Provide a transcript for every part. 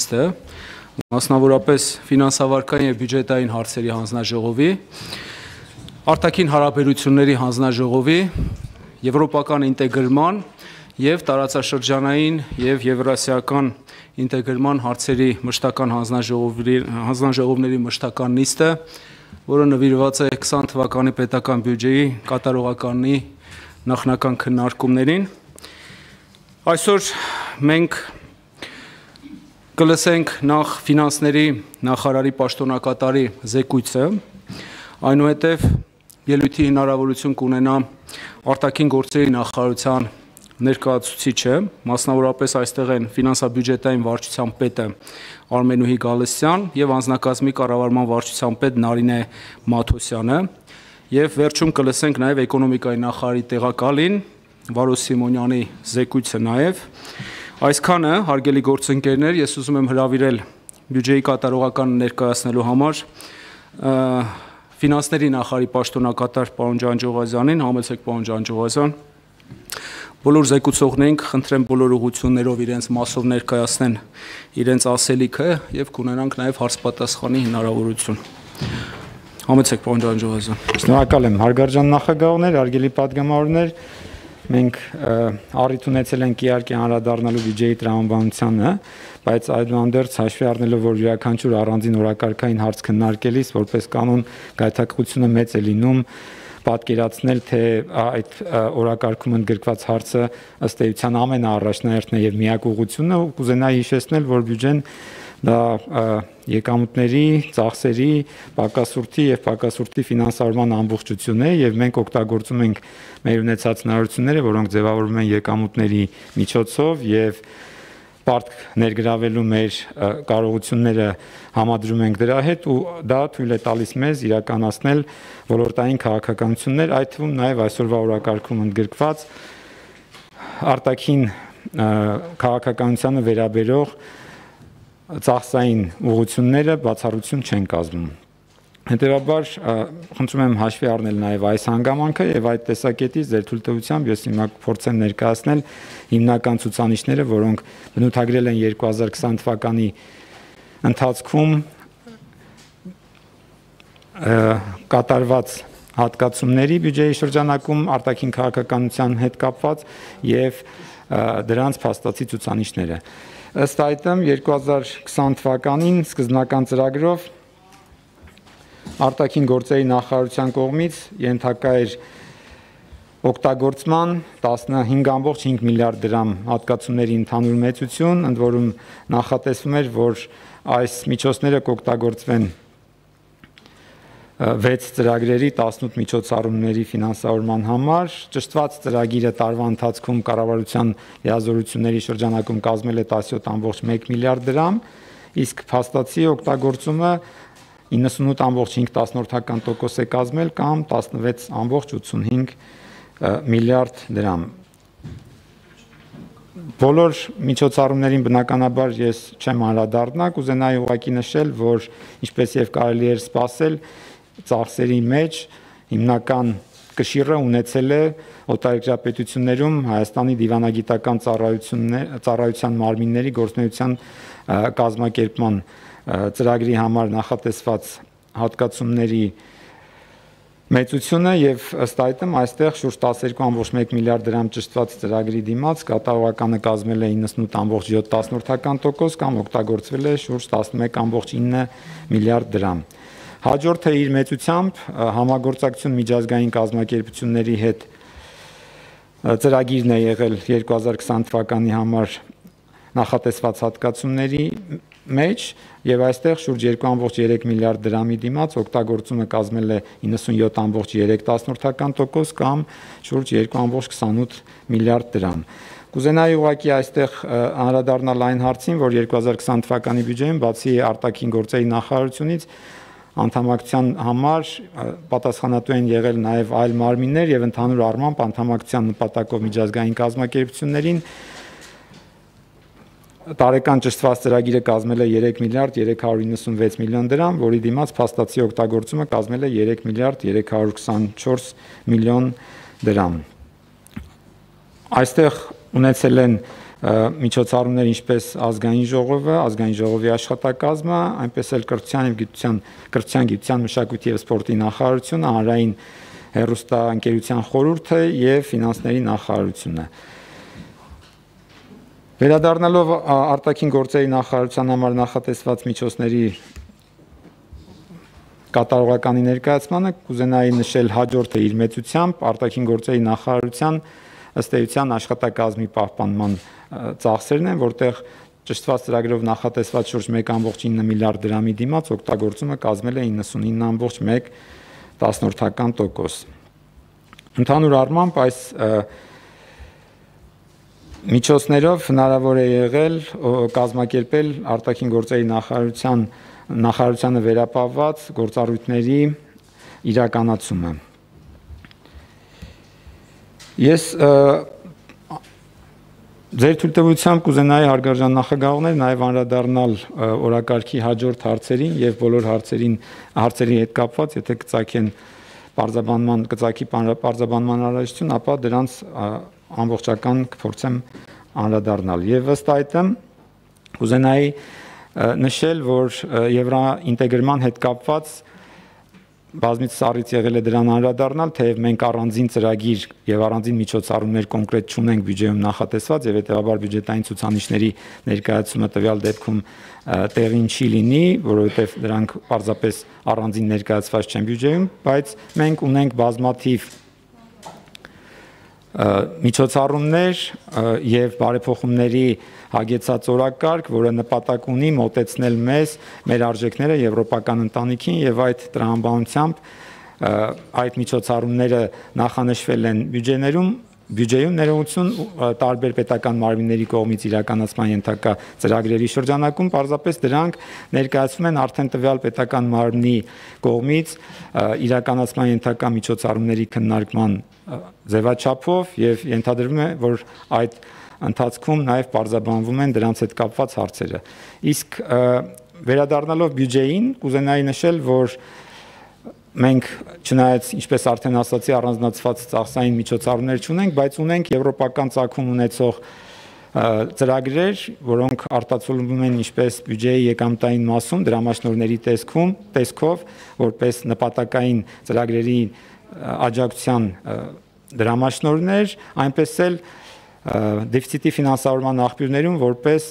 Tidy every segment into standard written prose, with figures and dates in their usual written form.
նիստը, մասնավորապես ֆինանսավարքային եւ բյուջետային հարցերի հանձնաժողովի, արտաքին հարաբերությունների հանձնաժողովի, եվրոպական ինտեգրման եւ տարածաշրջանային եւ եվրասիական ինտեգրման հարցերի մշտական հանձնաժողովների մշտական նիստը, որը նվիրված է 20 թվականի պետական բյուջեի կատարողականի նախնական քննարկումներին։ Այսօր մենք կլսենք նախ ֆինանսների նախարարի պաշտոնակատարի զեկույցը, այնուհետև ելույթի հնարավորություն կունենա արտաքին գործերի նախարարության ներկայացուցիչը, մասնավորապես այստեղ են ֆինանսա-բյուջետային վարչության պետը Արմենուհի Գալստյան եւ անձնակազմի կառավարման վարչության պետ Նարինե Մաթոսյանը, եւ վերջում կլսենք նաեւ էկոնոմիկայի նախարարի տեղակալին Վարո Սիմոնյանի զեկույցը նաեւ։ Այսքանը, հարգելի գործընկերներ, ես ուզում եմ հրավիրել բյուջեի կատարողականը ներկայացնելու համար ֆինանսների նախարարի պաշտոնակատար պարոն Ջանջողազյանին, համեցեք պարոն Ջանջողազյան։ Բոլոր զեկուցողներին խնդրեմ բոլոր ուղղություններով իրենց մասով ներկայացնեն իրենց ասելիքը եւ կունենանք նաեւ հարց-պատասխանի հնարավորություն։ Համեցեք պարոն Ջանջողազյան։ Շնորհակալ եմ, հարգարժան նախագահներ, հարգելի պատգամավորներ, մենք առիթ ունեցել ենք իհարկե անդրադառնալու բյուջեի տրամաբանությանը, բայց այդուհանդերձ հաշվի առնելով, որ յուրաքանչյուր առանձին օրակարգային հարց քննարկելիս որպես կանոն գայթակղությունը մեծ է լինում պատկերացնել, թե այդ օրակարգում ընդգրկված հարցը ըստ էության ամենաառաջնահերթն է եւ միակ ուղղությունը, կուզենայի հիշեցնել, որ բյուջեն դա եկամուտների, ծախսերի, պակասուրդի եւ պակասուրդի ֆինանսավորման ամբողջություն է եւ մենք օգտագործում ենք մեր ունեցած հնարավորությունները, որոնք ձևավորվում են եկամուտների միջոցով եւ պարտք ներգրավելու մեր կարողությունները համադրում ենք դրա հետ ու դա թույլ է տալիս մեզ իրականացնել ոլորտային քաղաքականություններ, այդ թվում նաև այսօրվա օրակարգում ընդգրկված արտաքին քաղաքականությանը վերաբերող ծախսային ուղղությունները բացառություն չեն կազմում։ Հետևաբար խնդրում եմ հաշվի առնել նաև այս հանգամանքը եւ այդ տեսակետից ձեր թույլտվությամբ ես հիմա փորձեմ ներկայացնել հիմնական ցուցանիշները, որոնք բնութագրել են 2020 թվականի ընթացքում կատարված հատկացումների բյուջեի շրջանակում արտաքին քաղաքականության հետ կապված եւ դրանց փաստացի ցուցանիշները։ Ըստ այդմ 2020 թվականին սկզբնական ծրագրով արտաքին գործերի նախարարության կողմից ենթակա էր օգտագործման 15.5 միլիարդ դրամ հատկացումների ընդհանուր մեծություն, ընդ որում նախատեսվում էր, որ այս միջոցները կօգտագործվեն 6 ծրագրերի 18 միջոցառումների ֆինանսավորման համար, ճշտված ծրագիրը տարվա ընթացքում կառավարության լիազորությունների շրջանակում կազմել է 17.1 միլիարդ դրամ, իսկ փաստացի օգտագործումը 98.5% է կազմել կամ 16.85 միլիարդ դրամ։ Բոլոր միջոցառումներին բնականաբար ես չեմ անդրադառնա, կուզենայի ուղղակի նշել, որ ինչպես եւ կարելի էր սպասել, ծախսերի մեջ հիմնական կշիռը ունեցել է օտարերկրապետություններում Հայաստանի դիվանագիտական ծառայության մարմինների գործունեության կազմակերպման ծրագրի համար նախատեսված հատկացումների մեծությունը եւ ըստ այդմ այստեղ շուրջ 12.1 միլիարդ դրամ ճշտված ծրագրի դիմաց կատարողականը կազմել է 98.7% կամ օգտագործվել է շուրջ 11.9 միլիարդ դրամ։ Հաջորդը իր մեծությամբ համագործակցություն միջազգային կազմակերպությունների հետ ծրագիրն է եղել 2020 թվականի համար նախատեսված հատկացումների մեջ եւ այստեղ շուրջ 2.3 միլիարդ դրամի դիմաց օգտագործումը կազմել է 97.3% կամ շուրջ 2.28 միլիարդ դրամ։ Կուզենայի ուղղակի այստեղ անդրադառնալ այն հարցին, որ 2020 թվականի բյուջեին բացի արտաքին գործերի նախարարությունից անդամակցության համար պատասխանատու են եղել նաև այլ մարմիններ եւ ընդհանուր առմամբ անդամակցության նպատակով միջազգային կազմակերպություններին տարեկան ճշտված ծրագիրը կազմել է 3 միլիարդ 396 միլիոն դրամ, որի դիմաց փաստացի օգտագործումը կազմել է 3 միլիարդ 324 միլիոն դրամ։ Այստեղ ունեցել են միջոցառումներ ինչպես ազգային ժողովը, ազգային ժողովի աշխատակազմը, այնպես էլ կրթության, գիտության, մշակույթի եւ սպորտի նախարարությունը, հանրային հեռուստաընկերության խորհուրդը եւ ֆինանսների նախարարությունը։ Վերադառնալով արտաքին գործերի նախարարության համար նախատեսված միջոցների կատարողականի ներկայացմանը, կուզենայի նշել հաջորդը իր մեծությամբ արտաքին գործերի նախարարության ըստ էության աշխատակազմի պահպանման ծախսերն են, որտեղ ճշտված ծրագրով նախատեսված շուրջ 1.9 միլիարդ դրամի դիմաց օգտագործումը կազմել է 99.1%։ Ընդհանուր առմամբ այս միջոցներով հնարավոր է եղել կազմակերպել արտաքին գործերի նախարարությանը վերապահված գործառույթների իրականացումը։ Ես ձեր թույլտվությամբ կուզենայի հարգարժան նախագահողներ նաև անդրադառնալ օրակարգի հաջորդ հարցերին եւ բոլոր հարցերի հետ կապված, եթե կծագի պարզաբանման անհրաժեշտություն, ապա դրանց ամբողջական կփորձեմ անդրադառնալ։ Եվ ըստ այդմ կուզենայի նշել, որ եվրոինտեգրման հետ կապված բազմիցս առիթ եղել է դրան անդրադառնալ, թեև մենք առանձին ծրագիր եւ առանձին միջոցառումներ կոնկրետ չունենք բյուջեում նախատեսված եւ հետեւաբար բյուջետային ցուցանիշների ներկայացումը տվյալ դեպքում տեղին չի լինի, որովհետեւ դրանք պարզապես առանձին ներկայացված չեն բյուջեում, բայց մենք ունենք բազմաթիվ միջոցառումներ եւ բարեփոխումների հագեցած օրակարգ, որը նպատակ ունի մոտեցնել մեզ մեր արժեքները եվրոպական ընտանիքին եւ այդ տրամաբանությամբ այդ միջոցառումները նախանշվել են բյուջեում ներողություն տարբեր պետական մարմինների կողմից իրականացման ենթակա ծրագրերի շրջանակում պարզապես դրանք ներկայացվում են արդեն տվյալ պետական մարմնի կողմից իրականացման ենթակա միջոցառումների քննարկման ձևաչափով եւ ենթադրվում է, որ այդ ընթացքում նաև պարզաբանվում են դրանց հետ կապված հարցերը։ Իսկ վերադառնալով բյուջեին, կուզենայի նշել, որ մենք չնայած ինչպես արդեն ասացի, առանձնացված ծախսային միջոցառումներ չունենք, բայց ունենք եվրոպական ծագում ունեցող ծրագրեր, որոնք արտացոլվում են ինչպես բյուջեի եկամտային մասում, դրամաշնորհների տեսքով, որպես նպատակային ծրագրերի աջակցության դրամաշնորհներ, այնպես էլ դեֆիցիտի ֆինանսավորման աղբյուրներում որպես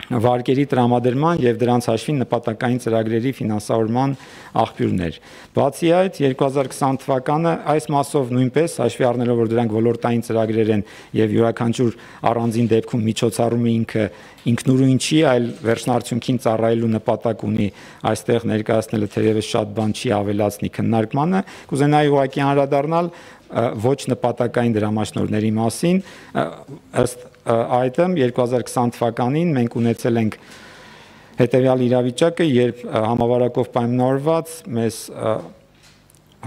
վարկերի տրամադրման եւ դրանց հաշվին նպատակային ծրագրերի ֆինանսավորման աղբյուրներ։ Բացի այդ, 2020 թվականը այս մասով նույնպես հաշվի առնելով, որ դրանք ոլորտային ծրագրեր են եւ յուրաքանչյուր առանձին դեպքում միջոցառումը ինքնուրույն չի, այլ վերջնարդյունքին ծառայելու նպատակ ունի, այստեղ ներկայացնելը թերևս շատ բան չի ավելացնի քննարկմանը, կուզենայի ուղղակի անդրադառնալ ոչ նպատակային դրամաշնորհների մասին, ըստ այդմ 2020 թվականին մենք ունեցել ենք հետևյալ իրավիճակը, երբ համավարակով պայմանավորված մեզ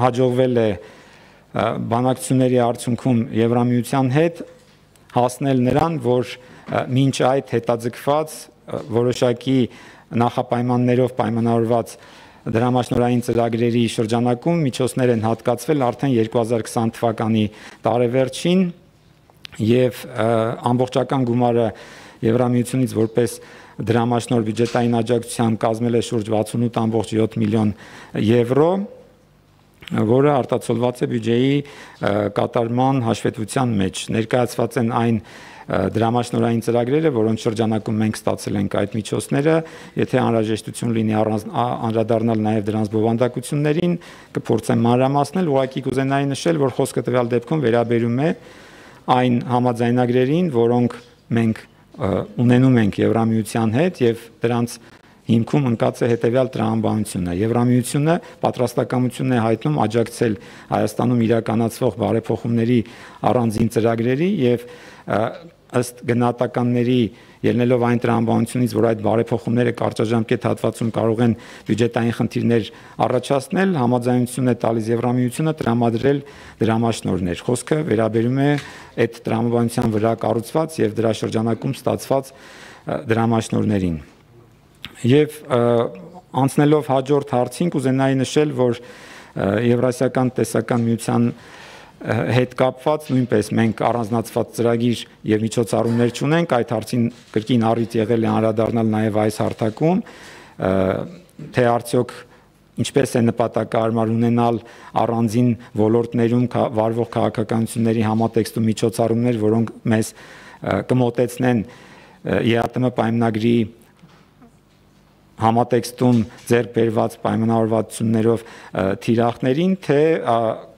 հաջողվել է բանակցությունների արդյունքում Եվրամիության հետ հասնել նրան, որ մինչ այդ հետաձգված որոշակի նախապայմաններով պայմանավորված դրամաշնորհային ծրագրերի շրջանակում միջոցներ են հատկացվել արդեն 2020 թվականի տարեվերջին եւ ամբողջական գումարը Եվրամիությունից որպես դրամաշնորհ բյուջետային աջակցության կազմել է շուրջ 68.7 միլիոն եվրո, որը արտացոլված է բյուջեի կատարման հաշվետվության մեջ։ Ներկայացված են այն դրամաշնորհային ծրագրերը, որոնց շրջանակում մենք ստացել ենք այդ միջոցները, եթե անհրաժեշտություն լինի անդրադառնալ նաև դրանց բովանդակություններին, կփորձեմ մանրամասնել, ուղղակի կուզենայի նշել, որ խոսքը տվյալ դեպքում վերաբերում է այն համաձայնագրերին, որոնք մենք ունենում ենք Եվրամիության հետ եւ դրանց հիմքում ընկած է հետևյալ տրամաբանությունը։ Եվրամիությունը պատրաստակամություն է հայտնում աջակցել Հայաստանում իրականացվող բարեփոխումների առանձին ծրագրերի եւ ըստ գնահատականների ելնելով այն տրամաբանությունից, որ այդ բարեփոխումները կարճաժամկետ հատվածում կարող են բյուջետային խնդիրներ առաջացնել, համաձայնություն է տալիս Եվրամիությունը տրամադրել դրամաշնորհներ։ Խոսքը վերաբերում է այդ տրամաբանության վրա կառուցված եւ դրա շրջանակում ստացված դրամաշնորհներին։ Եվ անցնելով հաջորդ հարցին, կուզենայի նշել, որ Եվրասիական տեսական միության հետ կապված նույնպես մենք առանձնացված ծրագիր եւ միջոցառումներ չունենք, այդ հարցին կրկին առիթ եղել է անդրադառնալ նաեւ այս հարթակում, թե արդյոք ինչպես է նպատակահարմար ունենալ առանձին ոլորտներում վարվող քաղաքականությունների համատեքստում միջոցառումներ, որոնք մեզ կմոտեցնեն ԵԱՏՄ պայմանագրի համատեքստում ձեռք բերված պայմանավորվածություններով թիրախներին, թե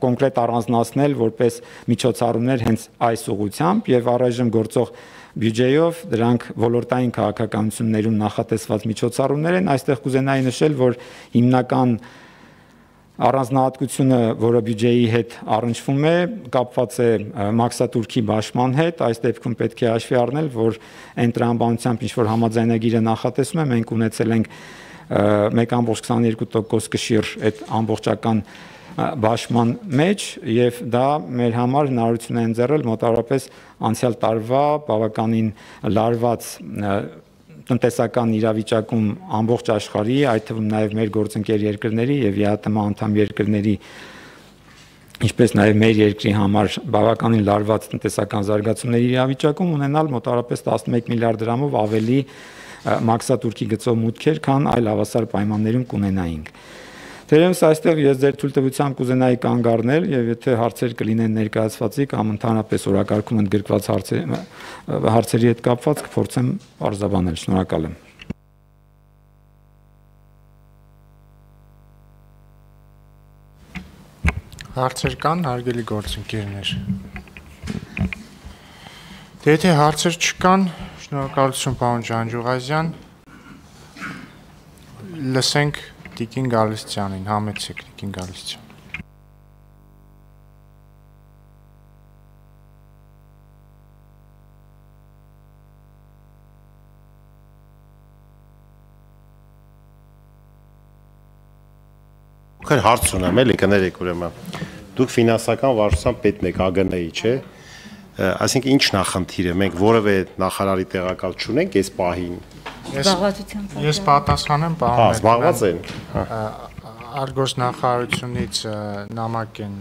կոնկրետ առանձնացնել որպես միջոցառումներ հենց այս ուղղությամբ եւ առայժմ գործող բյուջեով դրանք ոլորտային քաղաքականություններում նախատեսված միջոցառումներ են, այստեղ կուզենայի նշել, որ հիմնական առանձնահատկությունը, որը բյուջեի հետ առնչվում է, կապված է մաքսատուրքի բաշխման հետ, այս դեպքում պետք է հաշվի առնել, որ այն տրամաբանությամբ ինչ որ համաձայնագիրը նախատեսում է, մենք ունեցել ենք 1.22% կշիռ այդ ամբողջական բաշխման մեջ եւ դա մեր համար հնարավորություն է ընձեռել մոտավորապես անցյալ տարվա բավականին լարված տնտեսական իրավիճակում ամբողջ աշխարհի, այդ թվում նաև մեր գործընկեր երկրների եւ ԵԱՏՄ անդամ երկրների, ինչպես նաև մեր երկրի համար բավականին լարված տնտեսական զարգացումների իրավիճակում ունենալ մոտավորապես 11 միլիարդ դրամով ավելի մաքսատուրքի գծով մուտքեր, քան այլ հավասար պայմաններում կունենայինք։ Թերևս այստեղ ես ձեր թույլտվությամբ կուզենայի կանգ առնել եւ եթե հարցեր կլինեն ներկայացվածի կամ ընդհանրապես օրակարգում ընդգրկված հարցերի հետ կապված կփորձեմ արձաբանել։ Շնորհակալ եմ։ Հարցեր կան, հարգելի գործընկերներ։ Եթե հարցեր չկան, շնորհակալություն պարոն Ջանջուղազյան։ Լսենք Տիկին Գալստյանին, համեցեք Տիկին Գալստյան։ Քան հարց ունեմ, էլի կներեք ուրեմն։ Դուք ֆինանսական վարչության պետն եք, ԱԳՆ-ի, չէ՞։ Այսինքն ինչ նախնդիր է, մենք որևէ նախարարի տեղակալ չունենք այս պահին։ Ես պատասխանեմ, պարոն։ Զբաղված են։ Արտգործնախարարությունից նամակ են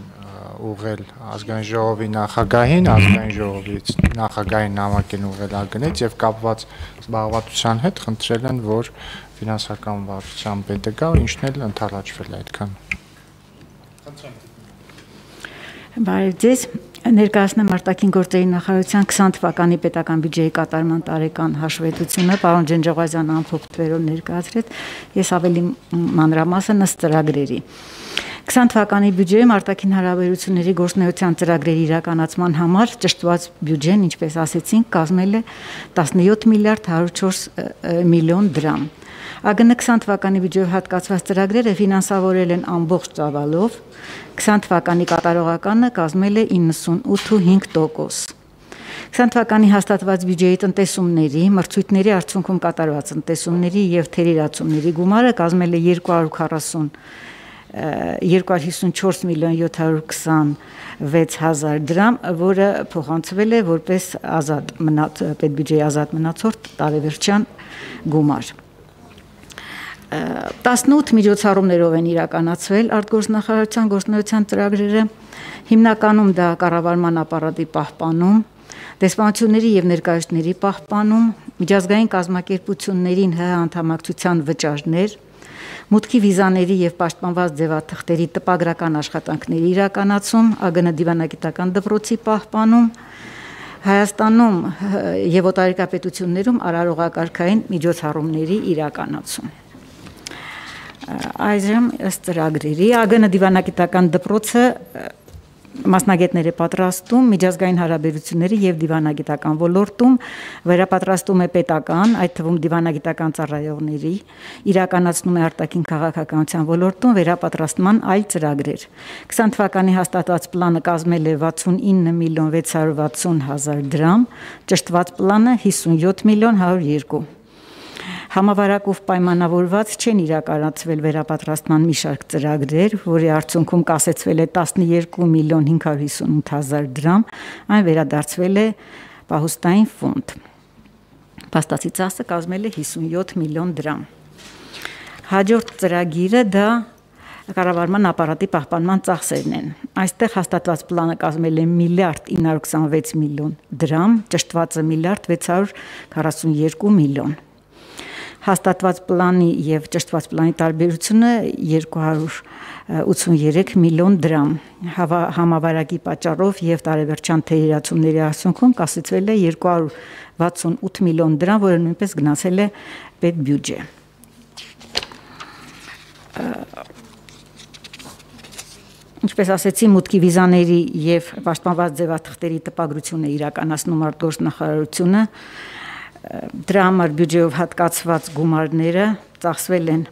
ուղղել ազգային ժողովի նախագահին, ազգային ժողովից նախագահին նամակ են ուղղել ԱԳՆ-ից եւ կապված զբաղվածության հետ խնդրել են, որ ֆինանսական վարչության պետը գա, ինչն էլ ընդառաջվել է այդքան։ Բարև ձեզ, ներկայացնեմ արտաքին գործերի նախարարության 20 թվականի պետական բյուջեի կատարման տարեկան հաշվետվությունը, պարոն Ջանջուղազյանը ամփոփ թվերով ներկայացրեց, ես ավելի մանրամասն ըստ ծրագրերի։ 20 թվականի բյուջեում արտաքին հարաբերությունների գործունեության ծրագրերի իրականացման համար ճշտված բյուջեն, ինչպես ասեցինք, կազմել է 17 միլիարդ 104 միլիոն դրամ։ ԱԳՆ 20 թվականի բյուջեով հատկացված ծրագրերը ֆինանսավորել են ամբողջ ծավալով, 20 թվականի կատարողականը կազմել է 98.5%։ 20 թվականի հաստատված բյուջեի տնտեսումների, մրցույթների արդյունքում կատարված տնտեսումների եւ թերերացումների գումարը կազմել է 254 միլիոն 726 հազար դրամ, որը փոխանցվել է որպես պետբյուջեի ազատ մնացորդ տարեվերջյան գումար։ 18 միջոցառումներով են իրականացվել արտգործնախարարության գործունեության ծրագրերը, հիմնականում դա կառավարման ապարատի պահպանում, դեսպանությունների եւ ներկայացուցիչների պահպանում, միջազգային կազմակերպություններին ՀՀ անդամակցության վճարներ, մուտքի վիզաների եւ պաշտպանված ձևաթղթերի տպագրական աշխատանքների իրականացում, ԱԳՆ դիվանագիտական դպրոցի պահպանում, Հայաստանում եւ օտարերկրապետություններում արարողակարգային միջոցառումների իրականացում։ Այժմ ըստ ծրագրերի ԱԳՆ դիվանագիտական դպրոցը մասնագետներ է պատրաստում միջազգային հարաբերությունների եւ դիվանագիտական ոլորտում, վերապատրաստում է պետական, այդ թվում դիվանագիտական ծառայողների, իրականացնում է արտաքին քաղաքականության ոլորտում վերապատրաստման այլ ծրագրեր։ 20 թվականի հաստատված պլանը կազմել է 69 միլիոն 660 հազար դրամ, ճշտված պլանը 57 միլիոն 102։ Համավարակով պայմանավորված չեն իրականացվել վերապատրաստման մի շարք ծրագրեր, որի արդյունքում կասեցվել է 12 միլիոն 558 հազար դրամ, այն վերադարձվել է պահուստային ֆոնդ։ Փաստացի ծախսը կազմել է 57 միլիոն դրամ։ Հաջորդ ծրագիրը դա կառավարման ապարատի պահպանման ծախսերն են։ Այստեղ հաստատված պլանը կազմել է 1.926 միլիոն դրամ, ճշտվածը 1.642 միլիոն։ Հաստատված պլանի եւ ճշտված պլանի տարբերությունը 283 միլիոն դրամ։ Համավարակի պատճառով եւ տարեվերջյան թերացումների արդյունքում կասեցվել է 268 միլիոն դրամ, որը նույնպես գնացել է պետբյուջե։ Ինչպես ասեցի, մուտքի վիզաների եւ պաշտպանված ձևաթղթերի տպագրությունը իրականացնում արտգործնախարարությունը, դրա համար բյուջեով հատկացված գումարները ծախսվել են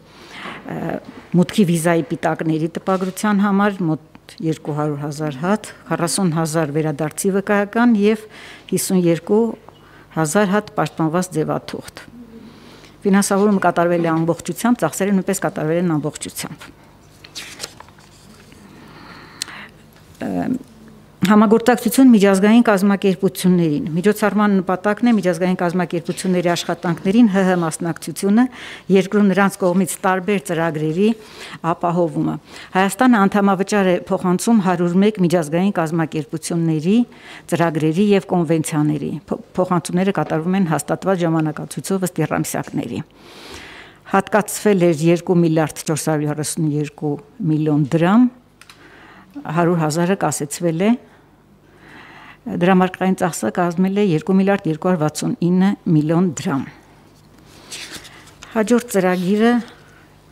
մուտքի վիզայի պիտակների տպագրության համար մոտ 200,000 հատ, 40,000 վերադարձի վկայական եւ 52,000 հատ պաշտպանված ձևաթուղթ։ Ֆինանսավորումը կատարվել է ամբողջությամբ, ծախսերը նույնպես կատարվել են ամբողջությամբ։ Համագործակցություն միջազգային կազմակերպություններին։ Միջոցառման նպատակն է միջազգային կազմակերպությունների աշխատանքներին ՀՀ մասնակցությունը, երկրում նրանց կողմից տարբեր ծրագրերի ապահովումը։ Հայաստանը անդամավճար է փոխանցում 101 միջազգային կազմակերպությունների ծրագրերի եւ կոնվենցիաների։ Փոխանցումները կատարվում են հաստատված ժամանակացույցով ըստ եռամսյակների։ Հատկացվել էր 2.432 միլիոն դրամ, 100,000-ը կասեցվել է, դրամարկղային ծախսը կազմել է 2.269 միլիոն դրամ։ Հաջորդ ծրագիրը,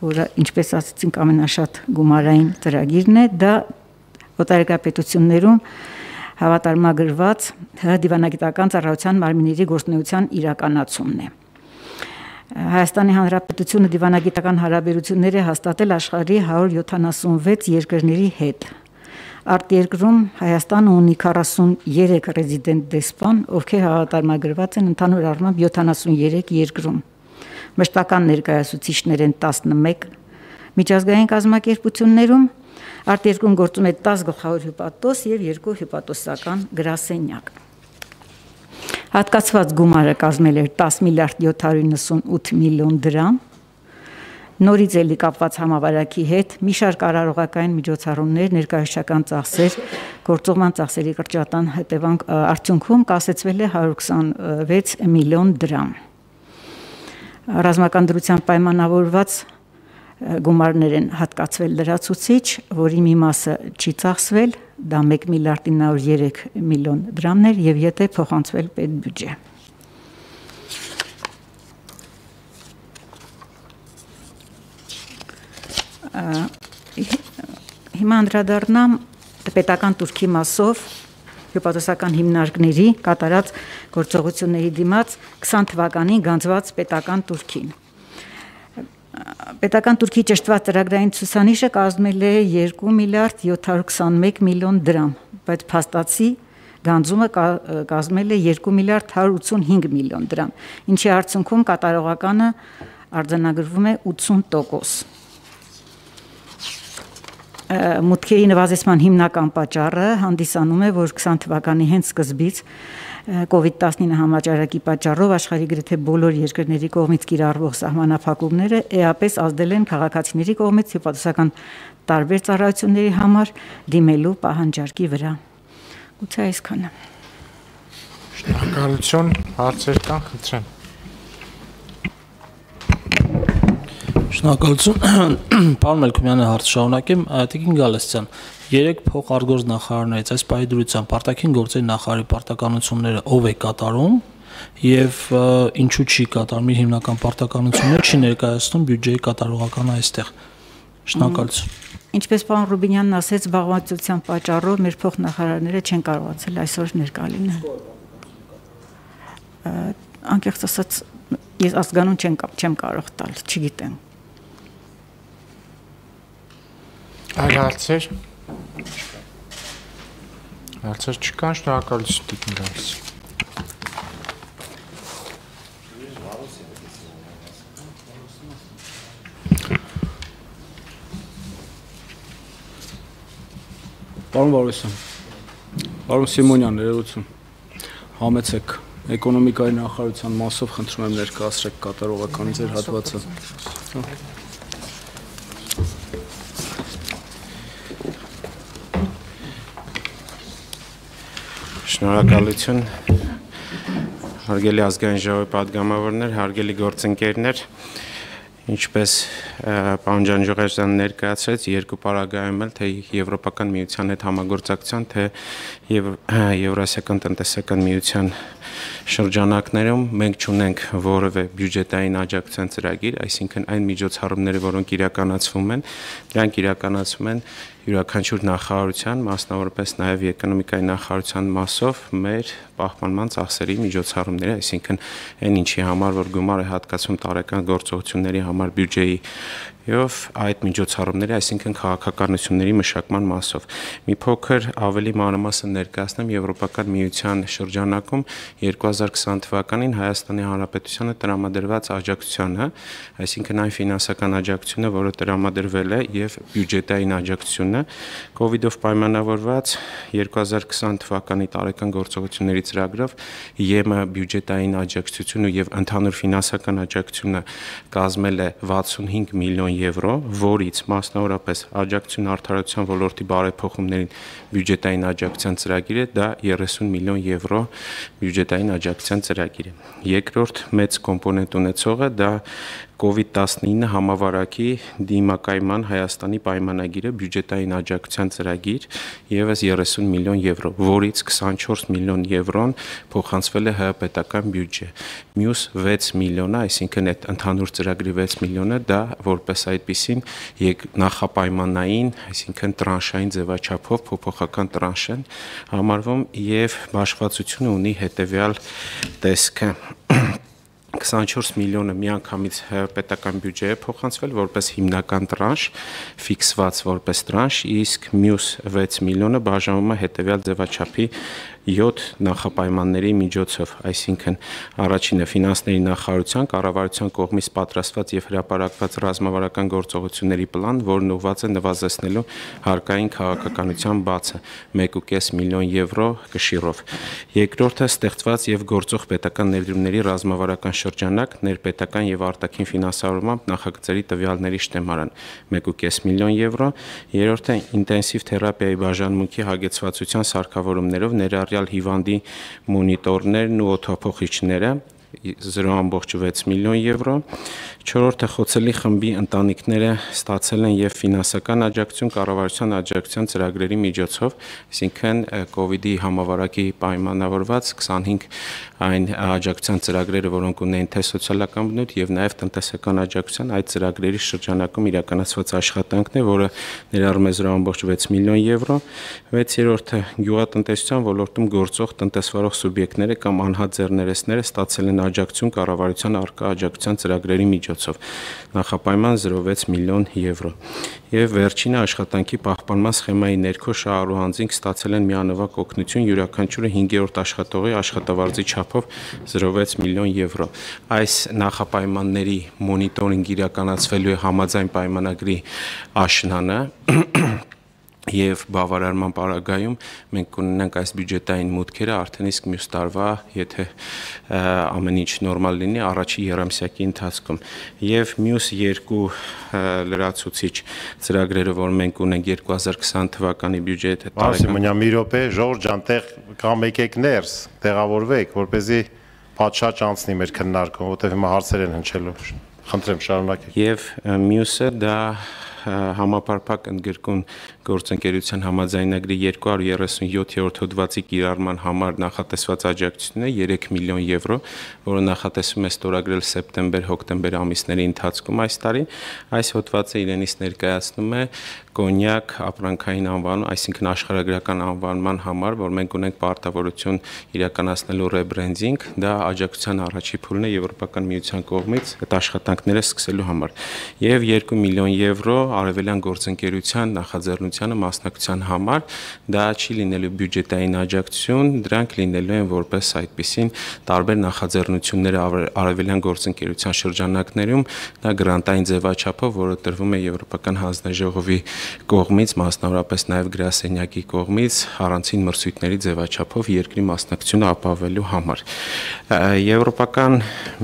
որը ինչպես ասացինք ամենաշատ գումարային ծրագիրն է, դա օտարերկրապետություններում հավատարմագրված դիվանագիտական ծառայության մարմինների գործունեության իրականացումն է։ Հայաստանի Հանրապետությունը դիվանագիտական հարաբերություններ է հաստատել աշխարհի 176 երկրների հետ։ Արտերկրում Հայաստանը ունի 43 ռեզիդենտ դեսպան, ովքեր հավատարմագրված են ընդհանուր առմամբ 73 երկրում։ Մշտական ներկայացուցիչներ են 11 միջազգային կազմակերպություններում, արտերկրում գործում է 10 գլխավոր հյուպատոս եւ 2 հյուպատոսական գրասենյակ։ Հատկացված գումարը կազմել էր 10.798 միլիոն դրամ։ Նորից էլի կապված համավարակի հետ մի շարք արարողական միջոցառումներ, ներկայացական ծախսեր, գործողման ծախսերի կրճատան արդյունքում կասեցվել է 126 միլիոն դրամ։ Ռազմական դրությամբ պայմանավորված գումարներ են հատկացվել լրացուցիչ, որի մի մասը չի ծախսվել, դա 1.903 միլիոն դրամներ եւ եթե փոխանցվել պետբյուջե։ Հիմա անդրադառնամ պետական турքի մասով հյուպատոսական հիմնարկների կատարած գործողությունների դիմաց 20 թվականին գանձված պետական турքին։ Պետական турքի ճշտված ծրագրային ցուցանիշը կազմել է 2.721 միլիոն դրամ, բայց փաստացի գանձումը կազմել է 2.185 միլիոն դրամ, ինչի արդյունքում կատարողականը արձանագրվում է 80%։ Մուտքերի նվազեցման հիմնական պատճառը հանդիսանում է, որ 20 թվականի հենց սկզբից COVID-19 համաճարակի պատճառով աշխարհի գրեթե բոլոր երկրների կողմից կիրառվող սահմանափակումները էապես ազդել են քաղաքացիների կողմից հյուպատոսական տարբեր ծառայությունների համար դիմելու պահանջարկի վրա։ Գուցե այսքանը։ Շնորհակալություն, հարցեր կան, խնդրեմ։ Շնորհակալություն, պարոն Մելքումյանը հարց շարունակեմ, Տիկին Գալստյան, 3 փոխարգոզ նախարարներից այս պահի դրությամբ արտաքին գործերի նախարարի պարտականությունները ով է կատարում եւ ինչու չի կատարում իր հիմնական պարտականությունները, չի ներկայացնում բյուջեի կատարողականը այստեղ։ Շնորհակալություն։ Ինչպես պարոն Ռուբինյանն ասեց, զբաղվածության պատճառով մեր փոխնախարարները չեն կարողացել այսօր ներկա լինել։ Անկեղծ ասած, ես ազգանուն չեմ կարող տալ, չգիտեմ։ Այլ հարցեր։ Հարցեր չկան, շնորհակալություն Տիկին Գալստյան։ Պարոն Վարդասյան, պարոն Սիմոնյան, ներողություն, համեցեք էկոնոմիկայի նախարարության մասով խնդրում եմ ներկայացրեք կատարողական ձեր հատվածը։ Շնորհակալություն, հարգելի ազգային ժողովի պատգամավորներ, հարգելի գործընկերներ, ինչպես պարոն Ջանջուղեշյանը ներկայացրեց, երկու պարագայում էլ թե Եվրոպական միության հետ համագործակցության, թե Եվրասիական տնտեսական միության շրջանակներում մենք չունենք որևէ բյուջետային աջակցության ծրագիր, այսինքն այն միջոցառումները, որոնք իրականացվում են, դրանք իրականացվում են յուրաքանչյուր նախարարության, մասնավորապես նաև էկոնոմիկայի նախարարության մասով մեր պահպանման ծախսերի միջոցառումները, այսինքն այն ինչի համար, որ գումար է հատկացվում տարեկան գործողությունների համար բյուջեի եւ այդ միջոցառումների, այսինքն քաղաքականությունների մշակման մասով։ Մի փոքր ավելի մանրամասն ներկայացնեմ Եվրոպական միության շրջանակում 2020 թվականին Հայաստանի Հանրապետությանը տրամադրված աջակցությանը, այսինքն այն ֆինանսական աջակցությունը, որը տրամադրվել է եւ բյուջետային աջակցությունը, COVID-ով պայմանավորված 2020 թվականի տարեկան գործողությունների ծրագրով ԵՄ բյուջետային աջակցությունը եւ ընդհանուր ֆինանսական աջակցությունը կազմել է 65 միլիոն եվրո, որից մասնավորապես աջակցություն արդարացության ոլորտի բարեփոխումներին բյուջետային աջակցության ծրագիրը դա 30 միլիոն եվրո բյուջետային աջակցության ծրագիր է։ Երկրորդ մեծ կոմպոնենտ ունեցողը դա COVID-19 համավարակի դիմակայման Հայաստանի պայմանագիրը բյուջետային աջակցության ծրագիր եւս 30 միլիոն եվրո, որից 24 միլիոն եվրոն փոխանցվել է ՀՀ պետական բյուջե։ Մյուս 6 միլիոնը, այսինքն այդ ընդհանուր ծրագրի 6 միլիոնը դա որպես այդպիսին նախապայմանային, այսինքն տրանշային ձևաչափով փոփոխական տրանշ են համարվում եւ բաշխվածությունը ունի հետեւյալ տեսքը 24 միլիոնը միանգամից պետական բյուջե է փոխանցվել որպես հիմնական տրանշ, ֆիքսված որպես տրանշ, իսկ մյուս 6 միլիոնը բաժանվում է հետևյալ ձևաչափի 7 նախապայմանների միջոցով, այսինքն առաջինը ֆինանսների նախարարության կառավարության կողմից պատրաստված եւ հրապարակված ռազմավարական գործողությունների պլան, որն ուղղված է նվազեցնելու հարկային քաղաքականության բացը 1.5 միլիոն եվրո կշիռով։ Երկրորդը ստեղծված եւ գործող պետական ներդրումների ռազմավարական շրջանակ, ներպետական եւ արտաքին ֆինանսավորմամբ նախագծերի տվյալների շտեմարան 1.5 միլիոն եվրո։ Երրորդը ինտենսիվ թերապիայի բաժանմունքի հագեցվածության սարքավորումներով ներառյալ հիվանդի մոնիտորներն ու օդափոխիչները 0.6 միլիոն եվրո։ Չորրորդը խոցելի խմբի ընտանիքները ստացել են եւ ֆինանսական աջակցություն կառավարության աջակցության ծրագրերի միջոցով, այսինքն COVID-ի համավարակի պայմանավորված 25 այն աջակցության ծրագրերը, որոնք ունեն թե սոցիալական բնույթ եւ նաեւ տնտեսական աջակցության այդ ծրագրերի շրջանակում իրականացված աշխատանքն է, որը ներառում է 0.6 միլիոն եվրո։ 6-րդը գյուղատնտեսության ոլորտում գործող տնտեսվարող սուբյեկտները կամ անհատ ձեռներեցները ստացել են աջակցություն կառավարության արկա աջակցության ծրագրերի միջոցով նախապայման 0.6 միլիոն եվրո եւ վերջինը աշխատանքի պահպանման սխեմայի ներքո շահառու անձինք ստացել են միանվագ օգնություն յուրաքանչյուրը 5-րդ աշխատողի աշխատավարձի չափով 0.6 միլիոն եվրո այս նախապայմանների մոնիտորինգ իրականացվելու է համաձայն պայմանագրի աշնանը եւ բավարարման պարագայում մենք կունենանք այս բյուջետային մուտքերը արդեն իսկ մյուս տարվա, եթե ամեն ինչ նորմալ լինի, առաջի երամսյակի ընթացքում։ Եվ մյուս երկու լրացուցիչ ծրագրերը, որ մենք ունենք 2020 թվականի բյուջեթը տարեկան։ Մի րոպե, Ժորժ ջան, տեղ կամ եկեք ներս, տեղավորվեք, որպեսզի պատշաճ անցնի մեր քննարկումը, որտեղ հիմա հարցեր են հնչելու։ Խնդրեմ, շարունակեք։ Եվ մյուսը դա համապարփակ ընդգրկուն գործընկերության համաձայնագրի 237-րդ հոդվածի կիրառման համար նախատեսված աջակցությունը 3 միլիոն եվրո, որը նախատեսվում է ստորագրել սեպտեմբեր-հոկտեմբեր ամիսների ընթացքում այս տարի։ Այս հոդվածը իրենից ներկայացնում է կոնյակ ապրանքային անվանում, այսինքն աշխարհագրական անվանման համար, որ մենք ունենք պարտավորություն իրականացնելու ռեբրենդինգ, դա աջակցության առաջի փուլն է Եվրոպական միության կողմից այդ աշխատանքները սկսելու համար։ Եվ 2 միլիոն եվրո արևելյան գործընկերության նախաձեռնությանը մասնակցության համար, դա չի լինելու բյուջետային աջակցություն, դրանք լինելու են որպես այդպիսին տարբեր նախաձեռնություններ արևելյան գործընկերության շրջանակներում, դա գրանտային ձևաչափով, որը տրվում է Եվրոպական հանձնաժողովի կողմից, մասնավորապես նաև գրասենյակի կողմից առանցին մրցույթների ձևաչափով երկրի մասնակցությունը ապահովելու համար։ Եվրոպական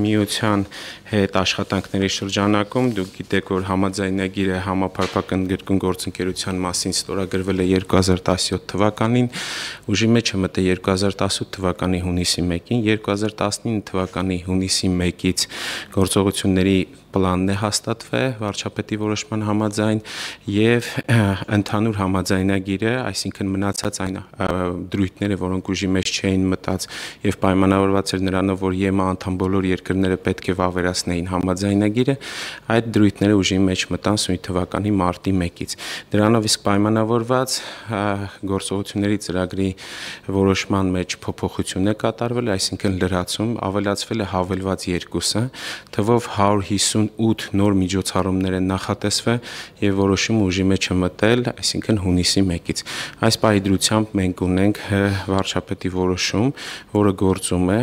միության հետ աշխատանքների շրջանակում դուք գիտեք, որ համաձայնագիրը համապարփակ ընդգրկուն գործընկերության մասին ստորագրվել է 2017 թվականին, ուժի մեջ է մտել 2018 թվականի հունիսի 1-ին, 2019 թվականի հունիսի 1-ից գործողությունների պլանն է հաստատվել վարչապետի որոշման համաձայն եւ ընդհանուր համաձայնագիրը, այսինքն մնացած այն դրույթները, որոնք ուժի մեջ չէին մտած եւ պայմանավորված էր նրանով, որ ԵՄ անդամ բոլոր երկրները պետք է վավերացնեին համաձայնագիրը, այդ դրույթները ուժի մեջ մտան սույն թվականի մարտի 1-ից։ Դրանով իսկ պայմանավորված գործողությունների ծրագրի որոշման մեջ փոփոխություն է կատարվել, այսինքն լրացում ավելացվել է հավելված 2-ը, թվով 158 նոր միջոցառումներ են նախատեսվել եւ որոշումը ուժի մեջ է մտել, այսինքն հունիսի 1-ից։ Այս պահի դրությամբ մենք ունենք վարչապետի որոշում, որը գործում է,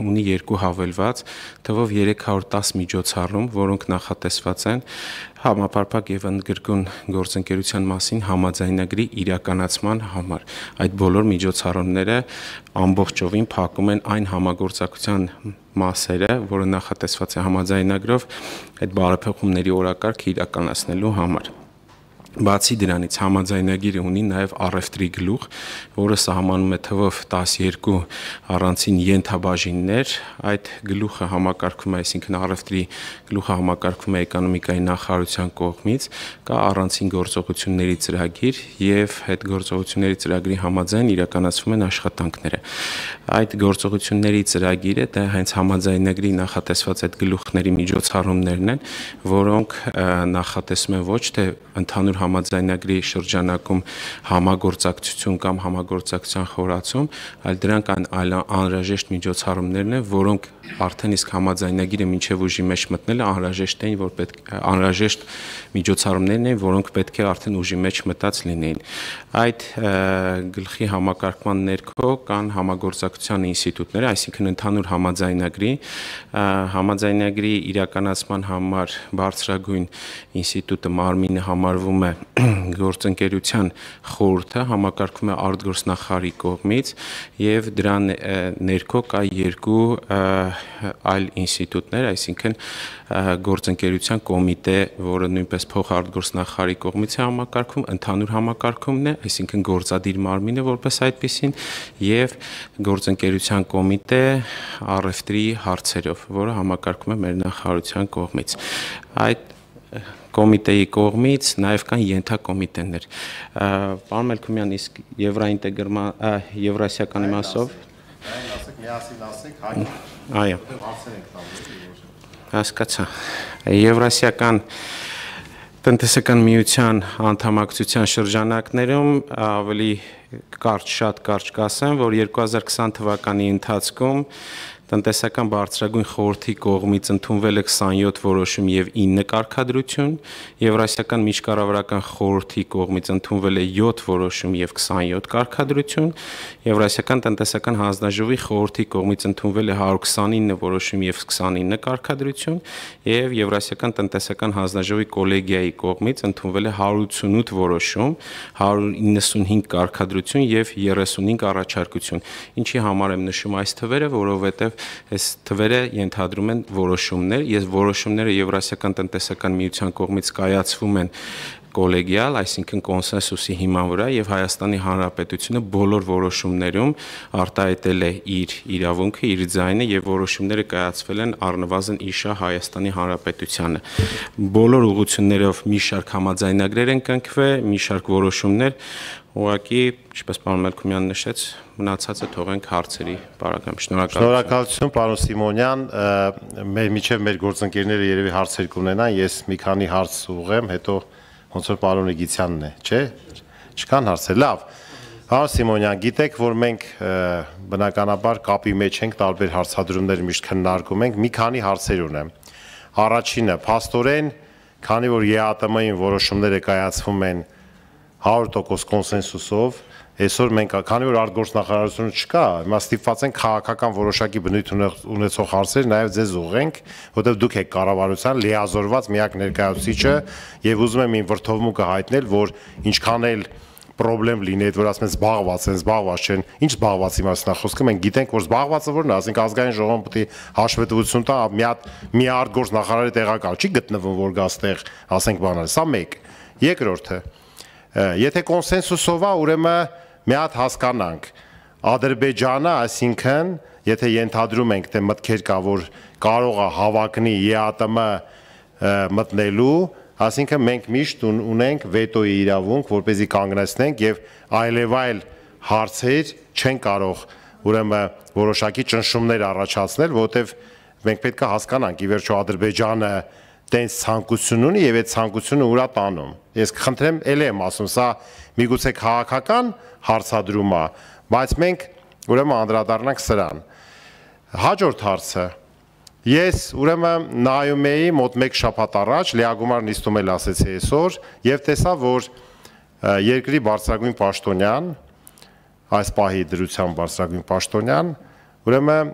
ունի 2 հավելված, թվով 310 միջոցառում, որոնք նախատեսված են համապարփակ եւ ընդգրկուն գործընկերության մասին համաձայնագրի իրականացման համար։ Այդ բոլոր միջոցառումները ամբողջովին փակում են այն համագործակցության մասերը, որը նախատեսված է համաձայնագրով այդ բարեփոխումների օրակարգը իրականացնելու համար։ Բացի դրանից համաձայնագիրը ունի նաև առևտրի գլուխ, որը սահմանում է թվով 12 առանցին ենթաբաժիններ, այդ գլուխը համակարգվում է, այսինքն առևտրի գլուխը համակարգվում է էկոնոմիկայի նախարարության կողմից, կա առանցին գործողությունների ծրագիր եւ այդ գործողությունների ծրագրի համաձայն իրականացվում են աշխատանքները։ Այդ գործողությունների ծրագիրը դա հենց համաձայնագրի նախատեսված այդ գլուխների միջոցառումներն են, որոնք նախատեսում են ոչ թե ընդհանուր համաձայնագրի շրջանակում համագործակցություն կամ համագործակցության խորացում, այլ դրանք անհրաժեշտ միջոցառումներն են, որոնք արդեն իսկ համաձայնագիրը մինչև ուժի մեջ մտնելը անհրաժեշտ միջոցառումներն են, որոնք պետք է արդեն ուժի մեջ մտած լինեին։ Այդ գլխի համակարգման ներքո կան համագործակցության ինստիտուտները, այսինքն ընդհանուր համաձայնագրի իրականացման համար բարձրագույն ինստիտուտը մարմինը համարվում է գործընկերության խորհուրդը, համակարգվում է արտգործնախարարի կողմից եւ դրան ներքո կա 2 այլ ինստիտուտներ, այսինքն գործընկերության կոմիտե, որը նույնպես փոխարտգործնախարարի կողմից է համակարգում, ընդհանուր համակարգումն է, այսինքն գործադիր մարմինը որպես այդպեսին եւ գործընկերության կոմիտե առևտրի հարցերով, որը համակարգում է մեր նախարարության կողմից։ Այդ կոմիտեի կողմից նաև կան ենթակոմիտեներ։ Պարոն Մելքումյան, իսկ եվրասիական իմաստով այո, հասկացա։ Եվրասիական տնտեսական միության անդամակցության շրջանակներում ավելի շատ կարճ կասեմ, որ 2020 թվականի ընթացքում տնտեսական բարձրագույն խորհրդի կողմից ընդունվել է 27 որոշում եւ 9 կարգադրություն, Եվրասիական միջկառավարական խորհրդի կողմից ընդունվել է 7 որոշում եւ 27 կարգադրություն, Եվրասիական տնտեսական հանձնաժողովի խորհրդի կողմից ընդունվել է 129 որոշում եւ 29 կարգադրություն եւ Եվրասիական տնտեսական հանձնաժողովի կոլեգիայի կողմից ընդունվել է 188 որոշում, 195 կարգադրություն եւ 35 առաջարկություն։ Ինչի համար եմ նշում այս թվերը, որովհետեւ այս թվերը ենթադրում են որոշումներ, եւ որոշումները Եվրասիական տնտեսական միության կողմից կայացվում են կոլեգիալ, այսինքն կոնսենսուսի հիման վրա եւ Հայաստանի Հանրապետությունը բոլոր որոշումներում արտահայտել է իր իրավունքը, իր ձայնը եւ որոշումները կայացվել են առնվազն իշա Հայաստանի Հանրապետությանը։ Բոլոր ուղղություններով մի շարք համաձայնագրեր են կնքվել, մի շարք որոշումներ, ուղղակի, ինչպես պարոն Մելքումյանը նշեց, մնացածը թողենք հարցերի պարագայում։ Շնորհակալություն, պարոն Սիմոնյան, միջև մեր գործընկերները երևի հարցեր կունենան, ես մի քանի հարց ուղղեմ, հետո ոնց որ պարոն Իգիցյանն է, չէ՞։ Չկան հարցեր։ Լավ։ Պարոն Սիմոնյան, գիտեք, որ մենք բնականաբար կապի մեջ ենք, տարբեր հարցադրումներ միշտ քննարկում ենք, մի քանի հարցեր ունեմ։ Առաջինը, փաստորեն, քանի որ ԵԱՏՄ-ին որոշումները կայացվում են 100% կոնսենսուսով, այսօր մենք, քանի որ արտգործնախարարությունը չկա, հիմա ստիպված ենք քաղաքական որոշակի բնույթ ունեցող հարցեր նաև ձեզ ուղղենք, որտեղ դուք եք կառավարության լիազորված միակ ներկայացուցիչը եւ ուզում եմ իմ վրթովմունքը հայտնել, որ ինչքան էլ պրոբլեմ լինի, այդ որ ասում են զբաղված են, զբաղված չեն, ինչ զբաղվածի մասն է խոսքը, մենք գիտենք, որ զբաղվածը որն է, ասենք ազգային ժողովում պետք է հաշվետվություն տա, մի արտգործ նախարարի տեղակալ չի գտնվում, որ գա ստեղ, ասենք բանալ, սա մեկ։ Երկրորդը, եթե կոնսենսուսով է, ուրեմն մի հատ հասկանանք, Ադրբեջանը, այսինքն, եթե ենթադրում ենք, թե մտքեր կա, որ կարող է հավակնի ԵԱՏՄ մտնելու, այսինքն մենք միշտ ունենք վետոյի իրավունք, որպեսզի կանգնեցնենք եւ այլևայլ հարցեր չեն կարող ուրեմն որոշակի ճնշումներ առաջացնել, որովհետեւ մենք պետք է հասկանանք, ի վերջո Ադրբեջանը տենց ցանկություն ունի եւ այդ ցանկությունը ուրա տանում։ Ես խնդրեմ, ել եմ ասում, սա միգուցե քաղաքական հարցադրում է, բայց մենք ուրեմն անդրադառնանք սրան։ Հաջորդ հարցը։ Ես ուրեմն նայում էի մոտ 1 շաբաթ առաջ լիագումար նիստում էլ ասեցի այսօր եւ տեսա, որ երկրի բարձրագույն պաշտոնյան, այս պահի դրությամբ բարձրագույն պաշտոնյան, ուրեմն